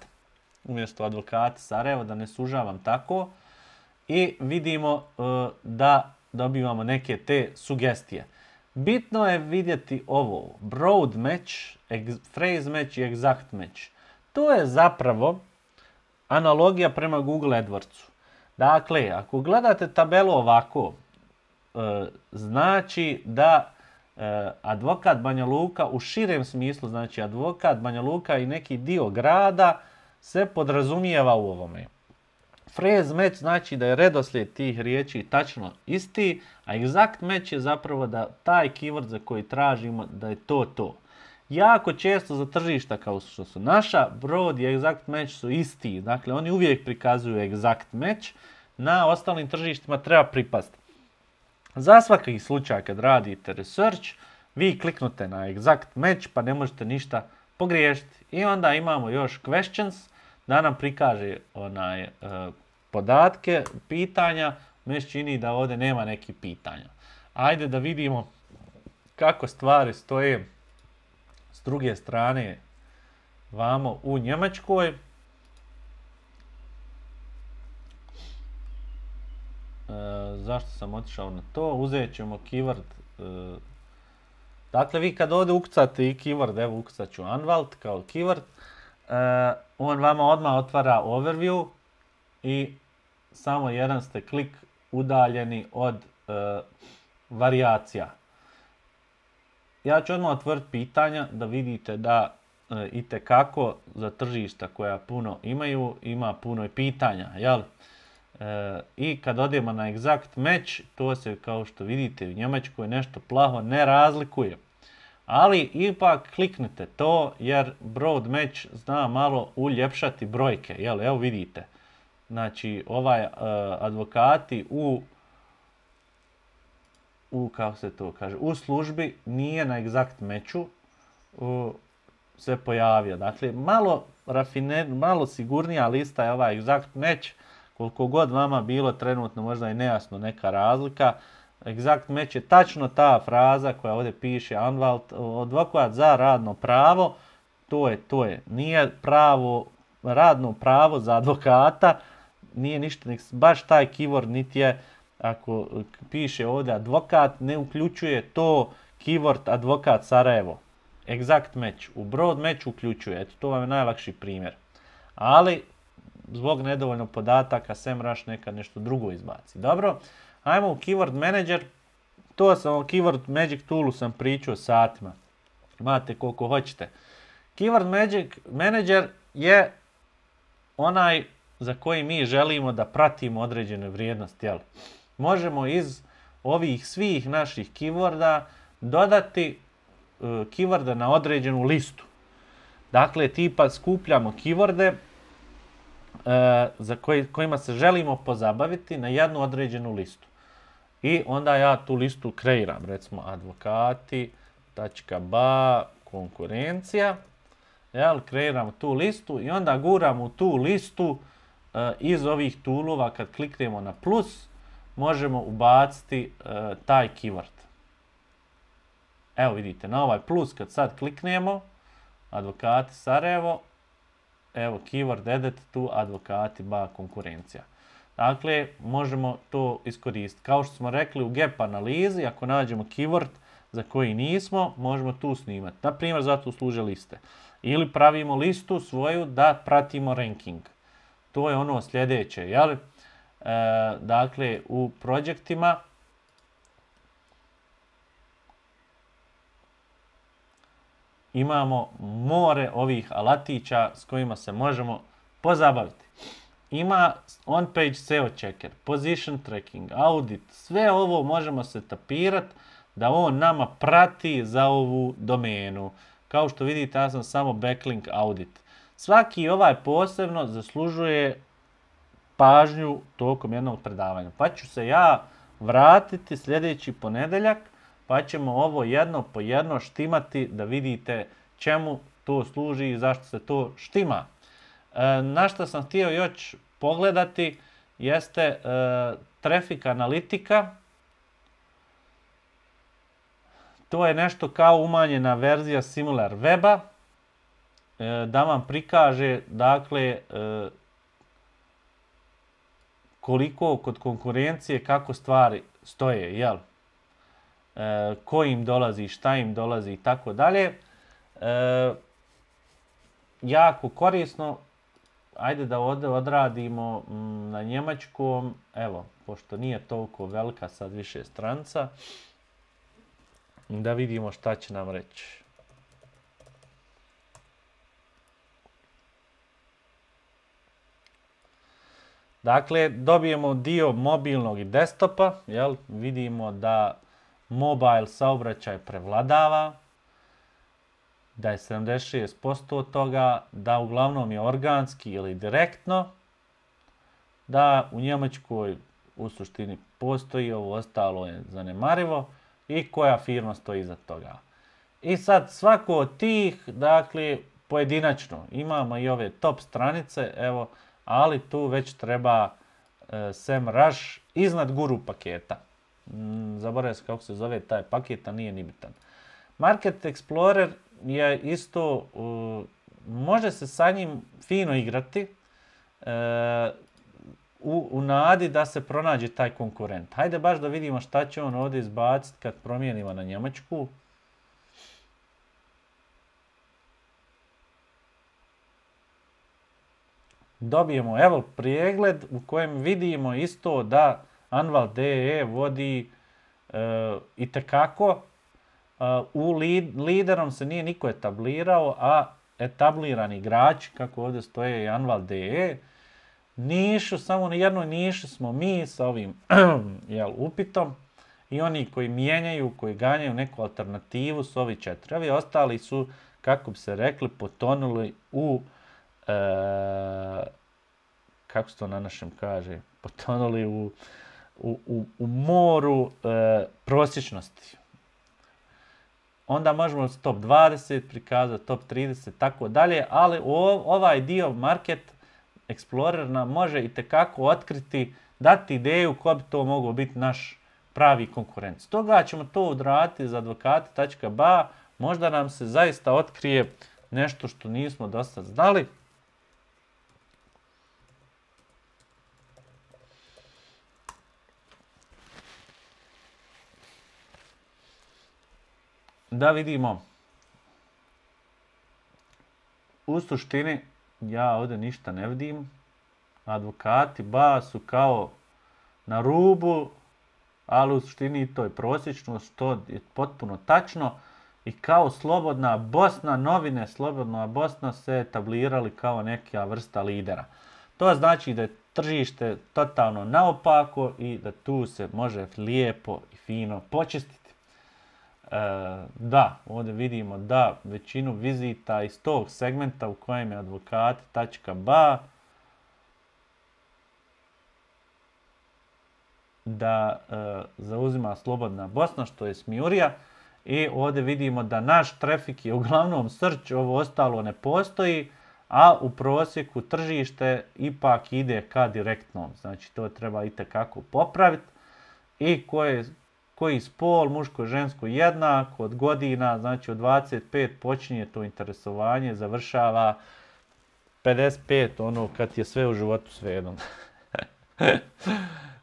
umjesto advokati Sarajevo, da ne sužavam tako. I vidimo e, da dobivamo neke te sugestije. Bitno je vidjeti ovo, broad match, phrase match i exact match. To je zapravo analogija prema Google AdWordsu. Dakle, ako gledate tabelu ovako, e, znači da e, advokat Banja Luka u širem smislu, znači advokat Banja Luka i neki dio grada se podrazumijeva u ovome. Phrase match znači da je redoslijed tih riječi tačno isti, a exact match je zapravo da taj keyword za koji tražimo da je to to. Jako često za tržišta kao što su naša, broad i exact match su isti. Dakle, oni uvijek prikazuju exact match. Na ostalim tržištima treba pripasti. Za svaki slučaj kad radite research, vi kliknute na exact match pa ne možete ništa pogriješiti. I onda imamo još questions da nam prikaže onaj, e, podatke, pitanja. Meni se čini da ovdje nema nekih pitanja. Ajde da vidimo kako stvari stoje s druge strane vamo u Njemačkoj. E, zašto sam otišao na to? Uzet ćemo keyword. E, dakle, vi kad ovdje ukucate i keyword, evo ukucat ću Anwalt kao keyword, e, on vama odmah otvara overview i samo jedan ste klik udaljeni od e, varijacija. Ja ću odmah otvoriti pitanja da vidite da e, itekako za tržišta koja puno imaju, ima puno i pitanja. Jel? E, I kad odemo na exact match, to se kao što vidite u Njemačkoj nešto plaho ne razlikuje. Ali ipak kliknite to jer broad match zna malo uljepšati brojke. Jel? Evo vidite. Znači ovaj e, advokati u u, kako se to kaže, u službi nije na exact matchu. se pojavio. Dakle, malo, rafine, malo sigurnija lista je ova exact match, koliko god vama bilo trenutno možda i nejasno neka razlika. Exact match je tačno ta fraza koja ovdje piše Anwalt, advokat za radno pravo, to je, to je. Nije pravo, radno pravo za advokata, nije ništa, baš taj keyword niti je, ako piše ovdje advokat, ne uključuje to keyword advokat Sarajevo. Exact match. U broad match uključuje. Eto, to vam je najlakši primjer. Ali, zbog nedovoljno podataka, SEMrush nekad nešto drugo izbaci. Dobro, ajmo u Keyword Manager. To sam o Keyword Magic Toolu sam pričao satima. Imate koliko hoćete. Keyword Magic Manager je onaj za koji mi želimo da pratimo određene vrijednosti. Jel? Možemo iz ovih svih naših keyworda dodati uh, keyworde na određenu listu. Dakle, tipa skupljamo keyworde uh, za koji, kojima se želimo pozabaviti na jednu određenu listu. I onda ja tu listu kreiram, recimo advokati, tačka ba, konkurencija. Jel, kreiramo tu listu i onda guramo u tu listu uh, iz ovih toolova, kad kliknemo na plus, možemo ubaciti uh, taj keyword. Evo vidite, na ovaj plus kad sad kliknemo, advokati Sarajevo, evo keyword edit tu advokati ba konkurencija. Dakle, možemo to iskoristiti. Kao što smo rekli u gap analizi, ako nađemo keyword za koji nismo, možemo tu snimati. Naprimjer, zato služe liste. Ili pravimo listu svoju da pratimo ranking. To je ono sljedeće, jel? E, dakle, u projektima imamo more ovih alatića s kojima se možemo pozabaviti. Ima on-page S E O checker, position tracking, audit, sve ovo možemo se tapirati da on nama prati za ovu domenu. Kao što vidite, ja sam samo backlink audit. Svaki ovaj posebno zaslužuje pažnju tokom jednog predavanja. Pa ću se ja vratiti sljedeći ponedeljak, pa ćemo ovo jedno po jedno štimati da vidite čemu to služi i zašto se to štima. E, na što sam htio još pogledati jeste e, traffic analitika. To je nešto kao umanjena verzija Similar Weba, e, da vam prikaže, dakle, e, koliko kod konkurencije, kako stvari stoje, jel? E, ko im dolazi, šta im dolazi i tako dalje. E, jako korisno. Ajde da ovdje odradimo m, na njemačkom, evo, pošto nije toliko velika sad više stranca, da vidimo šta će nam reći. Dakle, dobijemo dio mobilnog i desktopa, jel? Vidimo da mobile saobraćaj prevladava, da je sedamdeset šest posto od toga, da uglavnom je organski ili direktno, da u Njemačkoj u suštini postoji, ovo ostalo je zanemarivo i koja firma stoji iza toga. I sad svako od tih, dakle, pojedinačno, imamo i ove top stranice, evo, ali tu već treba e, SEMrush iznad guru paketa. Mm, zaboravio sam kako se zove taj paket, a nije ni bitan. Market Explorer je isto, uh, može se sa njim fino igrati uh, u, u nadi da se pronađe taj konkurent. Hajde baš da vidimo šta će on ovdje izbaciti kad promijenimo na njemačku. Dobijemo evo pregled u kojem vidimo isto da Anwalt punto de vodi uh, itekako. Uh, u lead, liderom se nije niko etablirao, a etablirani igrači, kako ovdje stoje i Anwalt punto de, nišu, samo na jednoj niši smo mi sa ovim jel, upitom i oni koji mijenjaju, koji ganjaju neku alternativu su ovi četiri. Ovi ostali su, kako bi se rekli, potonuli u, e, kako se to na našem kaže, potonuli u, u, u, u moru e, prosječnosti. onda možemo top dvadeset prikazati, top trideset, tako dalje, ali ovaj dio Market Explorer nam može itekako otkriti, dati ideju ko bi to mogao biti naš pravi konkurent. Stoga ćemo to odraditi za advokate tačka ba, možda nam se zaista otkrije nešto što nismo dosta znali. Da vidimo. U suštini, ja ovdje ništa ne vidim. Advokati ba su kao na rubu, ali u suštini to je prosječno, što je potpuno tačno. I kao Slobodna Bosna, novine Slobodna Bosna se etablirali kao neka vrsta lidera. To znači da je tržište totalno naopako i da tu se može lijepo i fino počistiti. E, da, ovdje vidimo da većinu vizita iz tog segmenta u kojem je advokati tačka ba da e, zauzima Slobodna Bosna, što je smijurija. I ovdje vidimo da naš trafik je uglavnom search, ovo ostalo ne postoji, a u prosjeku tržište ipak ide ka direktnom. Znači to treba itekako popraviti. I koje, koji spol, muško, žensko jednako, od godina, znači od dvadeset pet počinje to interesovanje, završava pedeset pet, ono kad je sve u životu svejedno.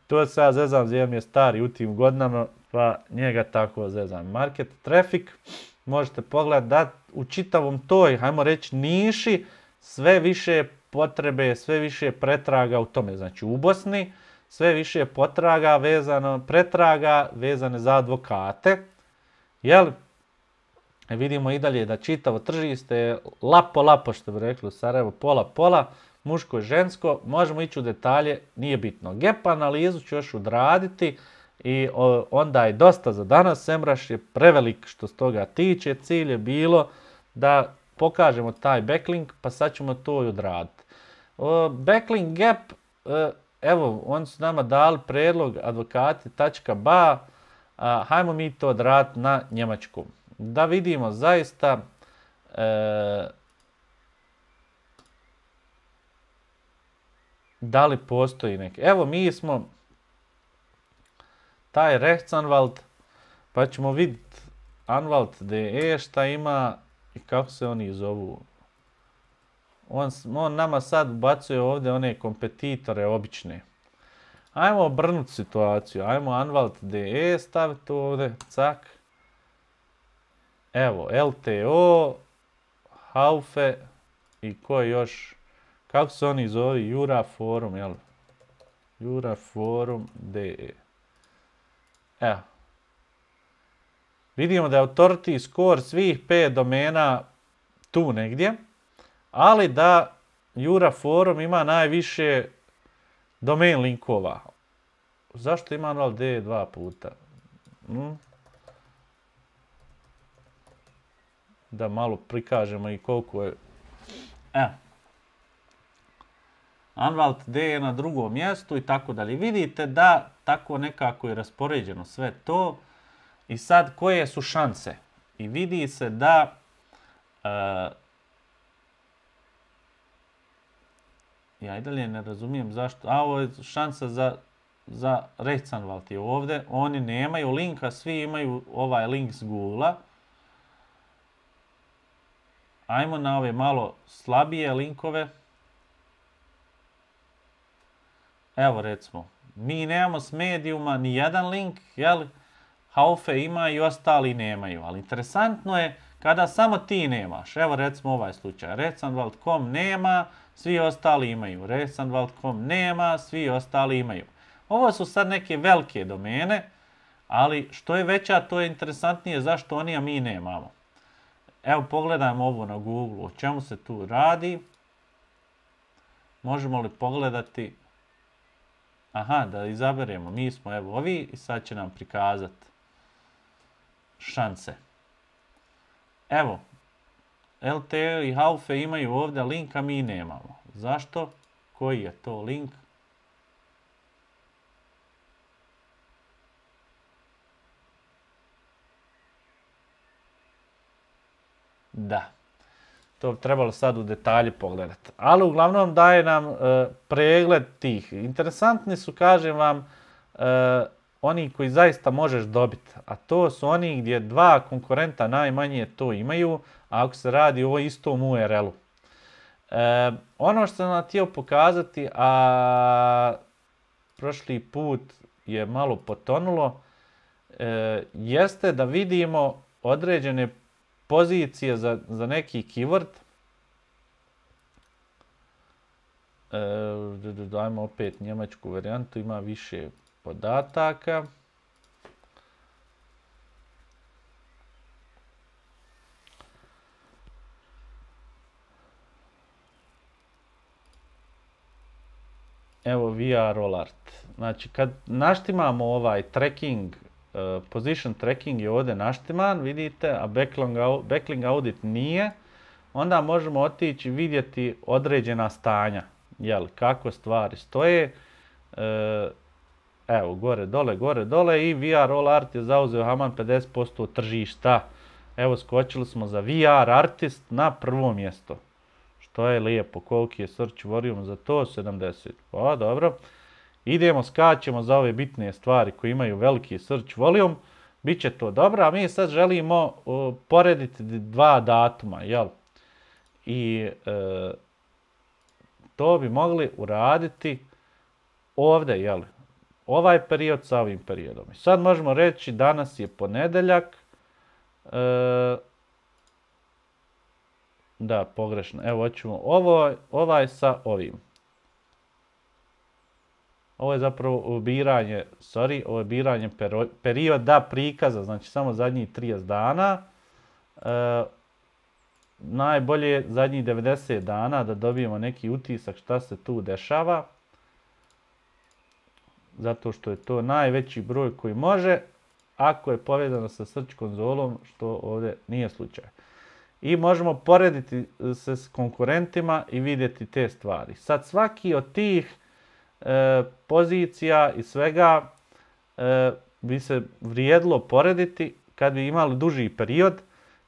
To se ja zezam, zem je stari u tim godinama, pa njega tako zezam. Market traffic, možete pogledati da u čitavom toj, hajmo reći, niši, sve više potrebe, sve više pretraga u tome. Znači u Bosni, sve više potraga vezano, pretraga vezane za advokate. Jel? Vidimo i dalje da čitavo tržište je lapo, lapo, što bi rekli u Sarajevo, pola, pola, muško i žensko. Možemo ići u detalje, nije bitno. Gap analizu ću još odraditi i o, onda je dosta za danas. Semrush je prevelik što s toga tiče. Cilj je bilo da pokažemo taj backlink, pa sad ćemo to i odraditi. O, backlink gap, e, evo, oni su nama dali predlog advokati tačka ba, a, hajmo mi to odraditi na njemačkom. Da vidimo zaista e, da li postoji neki. Evo, mi smo taj Rechtsanwalt, pa ćemo vidjeti Anwalt punkt de šta ima i kako se oni zovu. On, on nama sad ubacuje ovdje one kompetitore obične. Ajmo obrnuti situaciju. Ajmo Anwalt punkt de staviti ovdje. Cak. Evo, el te o, Haufe i ko još, kako se oni zove, Juraforum, jel? Juraforum punkt de. Evo. Vidimo da je authority score svih pet domena tu negdje, ali da Juraforum ima najviše domain linkova. Zašto ima Anwalt punkt de dva puta? Hm? Da malo prikažemo i koliko je. Evo. Anwalt punkt de je na drugom mjestu i tako dalje. Vidite da tako nekako je raspoređeno sve to. I sad koje su šanse? I vidi se da uh, ja i dalje ne razumijem zašto. A ovo je šansa za, za Rechtsanwalt je ovdje. Oni nemaju linka, svi imaju ovaj link s Google-a. Ajmo na ove malo slabije linkove. Evo recimo, mi nemamo s Mediuma ni jedan link, jel? Haufe ima i ostali nemaju, ali interesantno je kada samo ti nemaš. Evo recimo ovaj slučaj, Rechtsanwalt punkt com nema, svi ostali imaju. Rechtsanwalt punkt com nema, svi ostali imaju. Ovo su sad neke velike domene, ali što je veća, to je interesantnije zašto oni, a mi nemamo. Evo pogledajmo ovo na Google, o čemu se tu radi. Možemo li pogledati? Aha, da izaberemo, mi smo evo ovi i sad će nam prikazati šanse. Evo, el te o i Haufe imaju ovdje link, a mi nemamo. Zašto? Koji je to link? Da. To bi trebalo sad u detalji pogledati. Ali uglavnom daje nam e, pregled tih. Interesantni su, kažem vam, e, oni koji zaista možeš dobiti. A to su oni gdje dva konkurenta najmanje to imaju, a ako se radi o istom U R L-u. E, ono što sam vam htio pokazati, a prošli put je malo potonulo, e, jeste da vidimo određene pozicije za, za neki keyword. E, dajmo opet njemačku varijantu, ima više podataka. Evo V R All Art. Znači kad naštimamo ovaj tracking, uh, position tracking je ovdje naštiman, vidite, a backlink, backlink audit nije, onda možemo otići vidjeti određena stanja, jel, kako stvari stoje. Uh, evo, gore, dole, gore, dole i V R All Art je zauzeo haman pedeset posto tržišta. Evo, skočili smo za V R Artist na prvo mjesto. To je lijepo, koliki je search volume za to, sedamdeset. Pa dobro. Idemo, skačemo za ove bitne stvari koje imaju veliki search volume. Biće to dobro, a mi sad želimo uh, porediti dva datuma, jel? I uh, to bi mogli uraditi ovdje, jel? Ovaj period sa ovim periodom. I sad možemo reći danas je ponedeljak. Uh, Da, pogrešno. Evo, hoćemo ovo, ovaj sa ovim. Ovo je zapravo biranje, sorry, ovo je biranje pero, perioda prikaza, znači samo zadnjih trideset dana. E, najbolje je zadnjih devedeset dana da dobijemo neki utisak šta se tu dešava. Zato što je to najveći broj koji može, ako je povezano sa search konzolom, što ovdje nije slučaj. I možemo porediti se s konkurentima i vidjeti te stvari. Sad svaki od tih e, pozicija i svega e, bi se vrijedilo porediti kad bi imali duži period,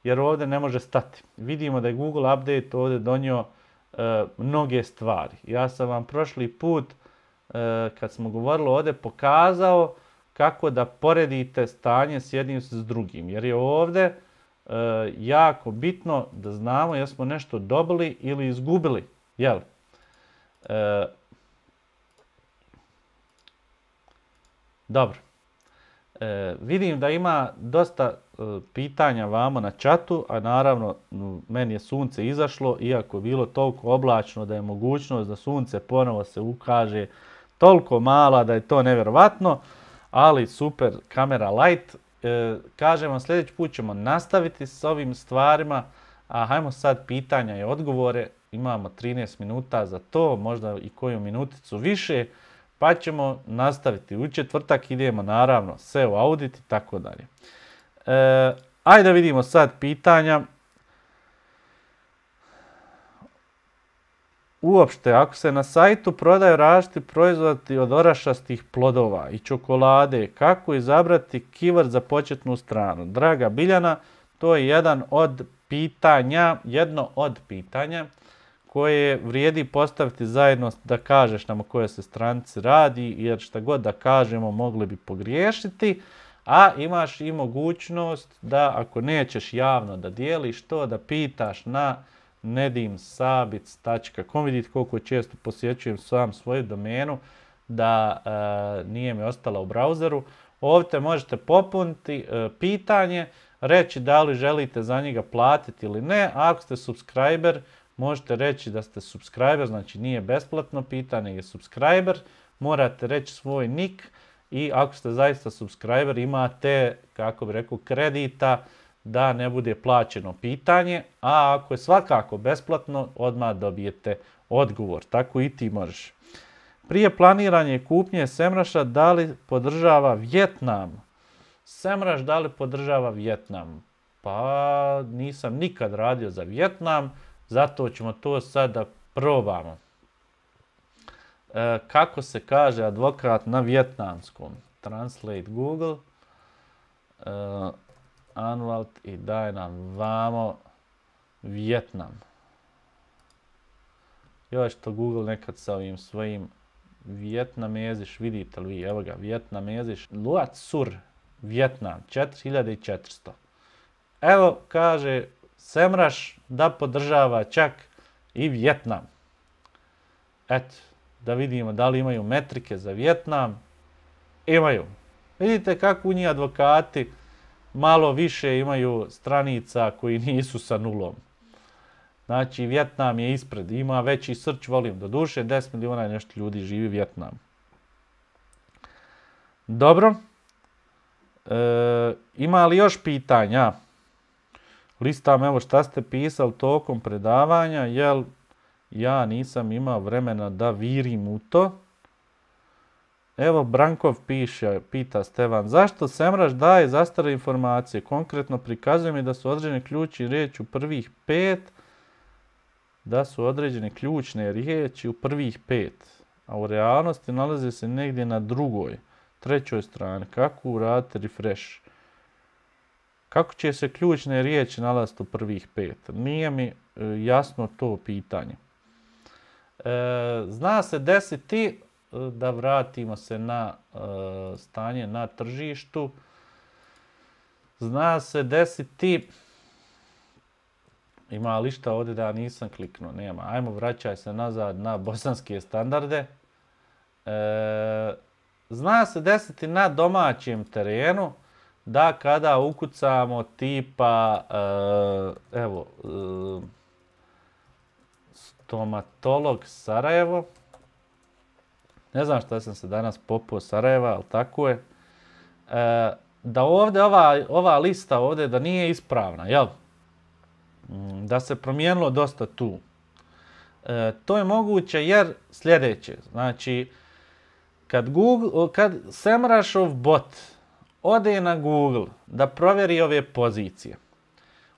jer ovdje ne može stati. Vidimo da je Google Update ovdje donio e, mnoge stvari. Ja sam vam prošli put, e, kad smo govorili ovdje, pokazao kako da poredite stanje s jednim s drugim. Jer je ovdje Uh, jako bitno da znamo jesmo nešto dobili ili izgubili, jel? Uh, dobro. Uh, vidim da ima dosta uh, pitanja vamo na chatu, a naravno meni je sunce izašlo, iako je bilo toliko oblačno da je mogućnost da sunce ponovo se ukaže toliko mala da je to nevjerovatno, ali super kamera light. E, kažem vam, sljedeći put ćemo nastaviti s ovim stvarima, a hajmo sad pitanja i odgovore. Imamo trinaest minuta za to, možda i koju minuticu više, pa ćemo nastaviti. U četvrtak idemo naravno S E O audit i tako dalje. E, ajde da vidimo sad pitanja. Uopšte, ako se na sajtu prodaju različiti proizvodi od orašastih plodova i čokolade, kako izabrati keyword za početnu stranu? Draga Biljana, to je jedan od pitanja, jedno od pitanja koje vrijedi postaviti zajedno da kažeš nam o kojoj se stranici radi, jer šta god da kažemo mogli bi pogriješiti, a imaš i mogućnost da ako nećeš javno da dijeliš to, da pitaš na nedim sabic tačka com. Vidite koliko često posjećujem sam svoju domenu da e, nije mi ostala u brauzeru. Ovdje možete popuniti e, pitanje, reći da li želite za njega platiti ili ne. Ako ste subscriber, možete reći da ste subscriber, znači nije besplatno pitanje, je subscriber. Morate reći svoj nick i ako ste zaista subscriber imate, kako bi rekao, kredita da ne bude plaćeno pitanje, a ako je svakako besplatno, odmah dobijete odgovor. Tako i ti možeš. Prije planiranja kupnje Semruša, da li podržava Vjetnam? Semruš da li podržava Vjetnam? Pa nisam nikad radio za Vjetnam, zato ćemo to sad da probamo. E, kako se kaže advokat na vjetnamskom? Translate Google. E, Anwalt i daj nam vamo Vjetnam. Još to Google nekad sa ovim svojim Vjetnameziš, vidite li vi, evo ga, Vjetnameziš, Luat Sur, Vjetnam, četiri hiljade četiristo. Evo, kaže, Semrush da podržava čak i Vjetnam. Eto, da vidimo da li imaju metrike za Vjetnam. Imaju. Vidite kako u njih advokati malo više imaju stranica koji nisu sa nulom. Znači, Vjetnam je ispred, ima veći search volume. Doduše, deset miliona i nešto ljudi živi u Vjetnamu. Dobro. E, ima li još pitanja? Listam, evo šta ste pisali tokom predavanja, jel ja nisam imao vremena da virim u to. Evo, Brankov piše, pita Stevan, zašto Semrush daje zastarne informacije? Konkretno prikazuje mi da su određene ključne riječi u prvih pet, da su određene ključne riječi u prvih pet, a u realnosti nalaze se negdje na drugoj, trećoj strani. Kako uradite refresh? Kako će se ključne riječi nalaziti u prvih pet? Nije mi e, jasno to pitanje. E, zna se desiti, da vratimo se na e, stanje na tržištu, zna se desiti, ima li šta ovdje da ja nisam kliknuo? Nema. Ajmo, vraćaj se nazad na bosanske standarde. E, zna se desiti na domaćem terenu da kada ukucamo tipa, e, evo, e, stomatolog Sarajevo, ne znam šta sam se danas popao Sarajeva, ali tako je, e, da ovdje ova, ova lista ovdje da nije ispravna, jel? Da se promijenilo dosta tu. E, to je moguće jer sljedeće, znači, kad, Google, kad Semrushov bot ode na Google da provjeri ove pozicije,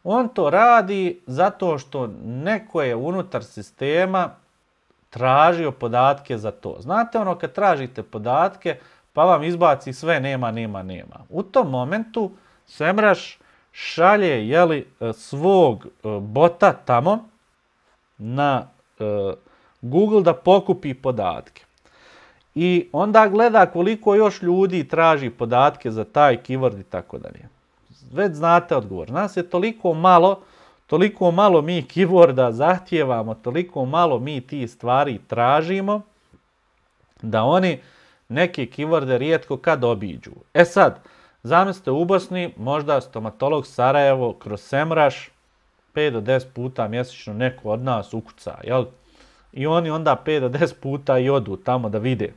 on to radi zato što neko je unutar sistema tražio podatke za to. Znate ono kad tražite podatke pa vam izbaci sve nema, nema, nema. U tom momentu Semrush šalje jeli, svog bota tamo na uh, Google da pokupi podatke. I onda gleda koliko još ljudi traži podatke za taj keyword i tako dalje. Već znate odgovor. Nas je toliko malo, toliko malo mi keyworda zahtijevamo, toliko malo mi ti stvari tražimo, da oni neke keyworde rijetko kad obiđu. E sad, zamislite u Bosni, možda stomatolog Sarajevo kroz Semrush pet do deset puta mjesečno neko od nas ukuca, jel? I oni onda pet do deset puta i odu tamo da vide.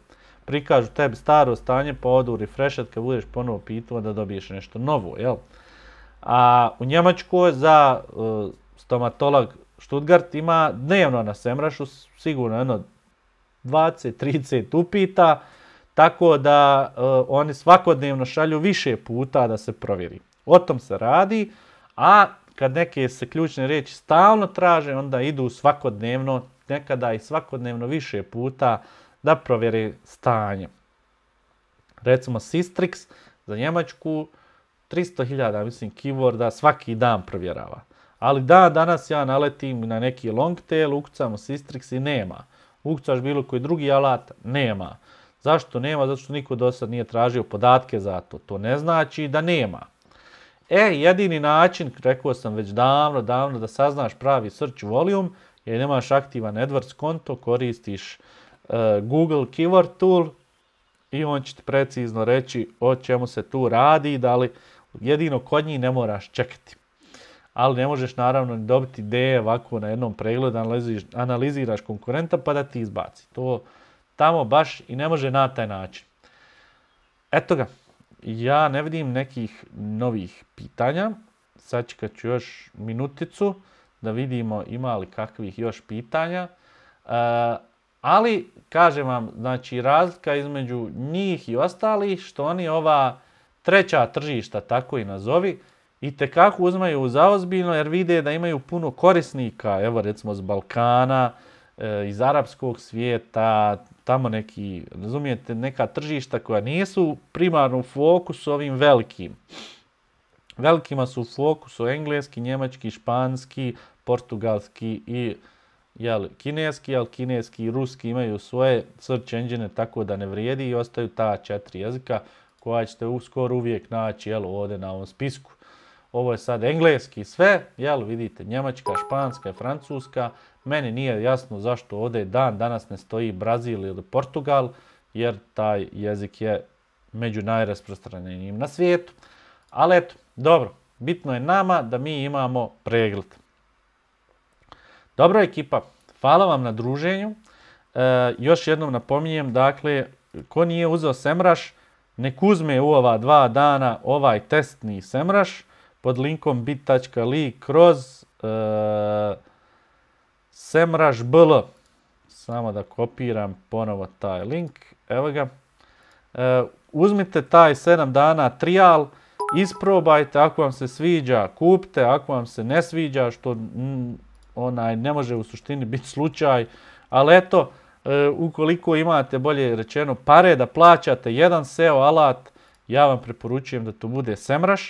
Prikažu tebi staro stanje, pa odu refreshat kad budeš ponovo pitao da dobiješ nešto novo, jel? A u Njemačkoj za uh, stomatolog Stuttgart ima dnevno na Semrushu sigurno jedno dvadeset trideset upita, tako da uh, oni svakodnevno šalju više puta da se provjeri. O tom se radi, a kad neke se ključne riječi stalno traže, onda idu svakodnevno, nekada i svakodnevno više puta da provjeri stanje. Recimo Sistrix za Njemačku tristo hiljada, mislim, keyworda svaki dan provjerava. Ali da, danas ja naletim na neki long tail, ukucamo Sistrix i nema. Ukucaš bilo koji drugi alat, nema. Zašto nema? Zato što niko do sad nije tražio podatke za to. To ne znači da nema. E, jedini način, rekao sam već davno, davno, da saznaš pravi search volume, jer nemaš aktivan AdWords konto, koristiš uh, Google Keyword Tool i on će ti precizno reći o čemu se tu radi, da li jedino kod njih ne moraš čekati. Ali ne možeš naravno dobiti ideje ovako na jednom pregledu, analiziraš, analiziraš konkurenta pa da ti izbaci. To tamo baš i ne može na taj način. Eto ga, ja ne vidim nekih novih pitanja. Sad čekat ću još minuticu da vidimo ima li kakvih još pitanja. E, ali, kažem vam, znači razlika između njih i ostalih, što oni ova treća tržišta, tako i nazovi, i tekako uzmaju za ozbiljno jer vide da imaju puno korisnika, evo recimo z Balkana, e, iz arapskog svijeta, tamo neki, razumijete, neka tržišta koja nisu primarno u fokusu ovim velikim. Velikima su u fokusu engleski, njemački, španski, portugalski i jel, kineski, ali kineski i ruski imaju svoje search engine, tako da ne vrijedi i ostaju ta četiri jezika koja ćete uskoro uvijek naći jel, ovdje na ovom spisku. Ovo je sad engleski sve, jel, vidite, njemačka, španska i francuska. Meni nije jasno zašto ovdje dan danas ne stoji Brazil ili Portugal, jer taj jezik je među najrasprostranjenijim na svijetu. Ali eto, dobro, bitno je nama da mi imamo pregled. Dobro ekipa, hvala vam na druženju. E, još jednom napominjem, dakle, ko nije uzeo SEMrush, nek uzme u ova dva dana ovaj testni SEMrush pod linkom bit tačka l i kroz e, SEMrush B L. Samo da kopiram ponovo taj link. Evo ga. E, uzmite taj sedam dana trial, isprobajte, ako vam se sviđa, kupite, ako vam se ne sviđa, što mm, onaj ne može u suštini biti slučaj, ali eto, e, ukoliko imate, bolje rečeno, pare da plaćate jedan S E O alat, ja vam preporučujem da to bude SEMrush.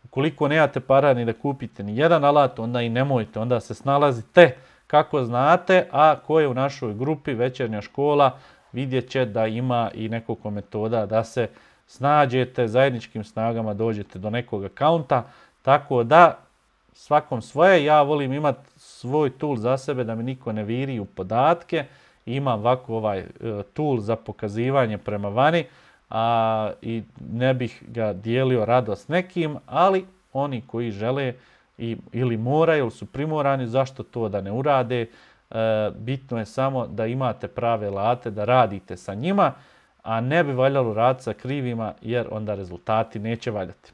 Ukoliko nemate para ni da kupite ni jedan alat, onda i nemojte, onda se snalazite kako znate, a ko je u našoj grupi Večernja škola vidjet će da ima i nekoliko metoda da se snađete, zajedničkim snagama dođete do nekog akaunta, tako da svakom svoje, ja volim imati svoj tool za sebe da mi niko ne viri u podatke, imam ovako ovaj tool za pokazivanje prema vani, a i ne bih ga dijelio rado s nekim, ali oni koji žele i, ili moraju ili su primorani, zašto to da ne urade, e, bitno je samo da imate prave alate, da radite sa njima, a ne bi valjalo raditi sa krivima jer onda rezultati neće valjati.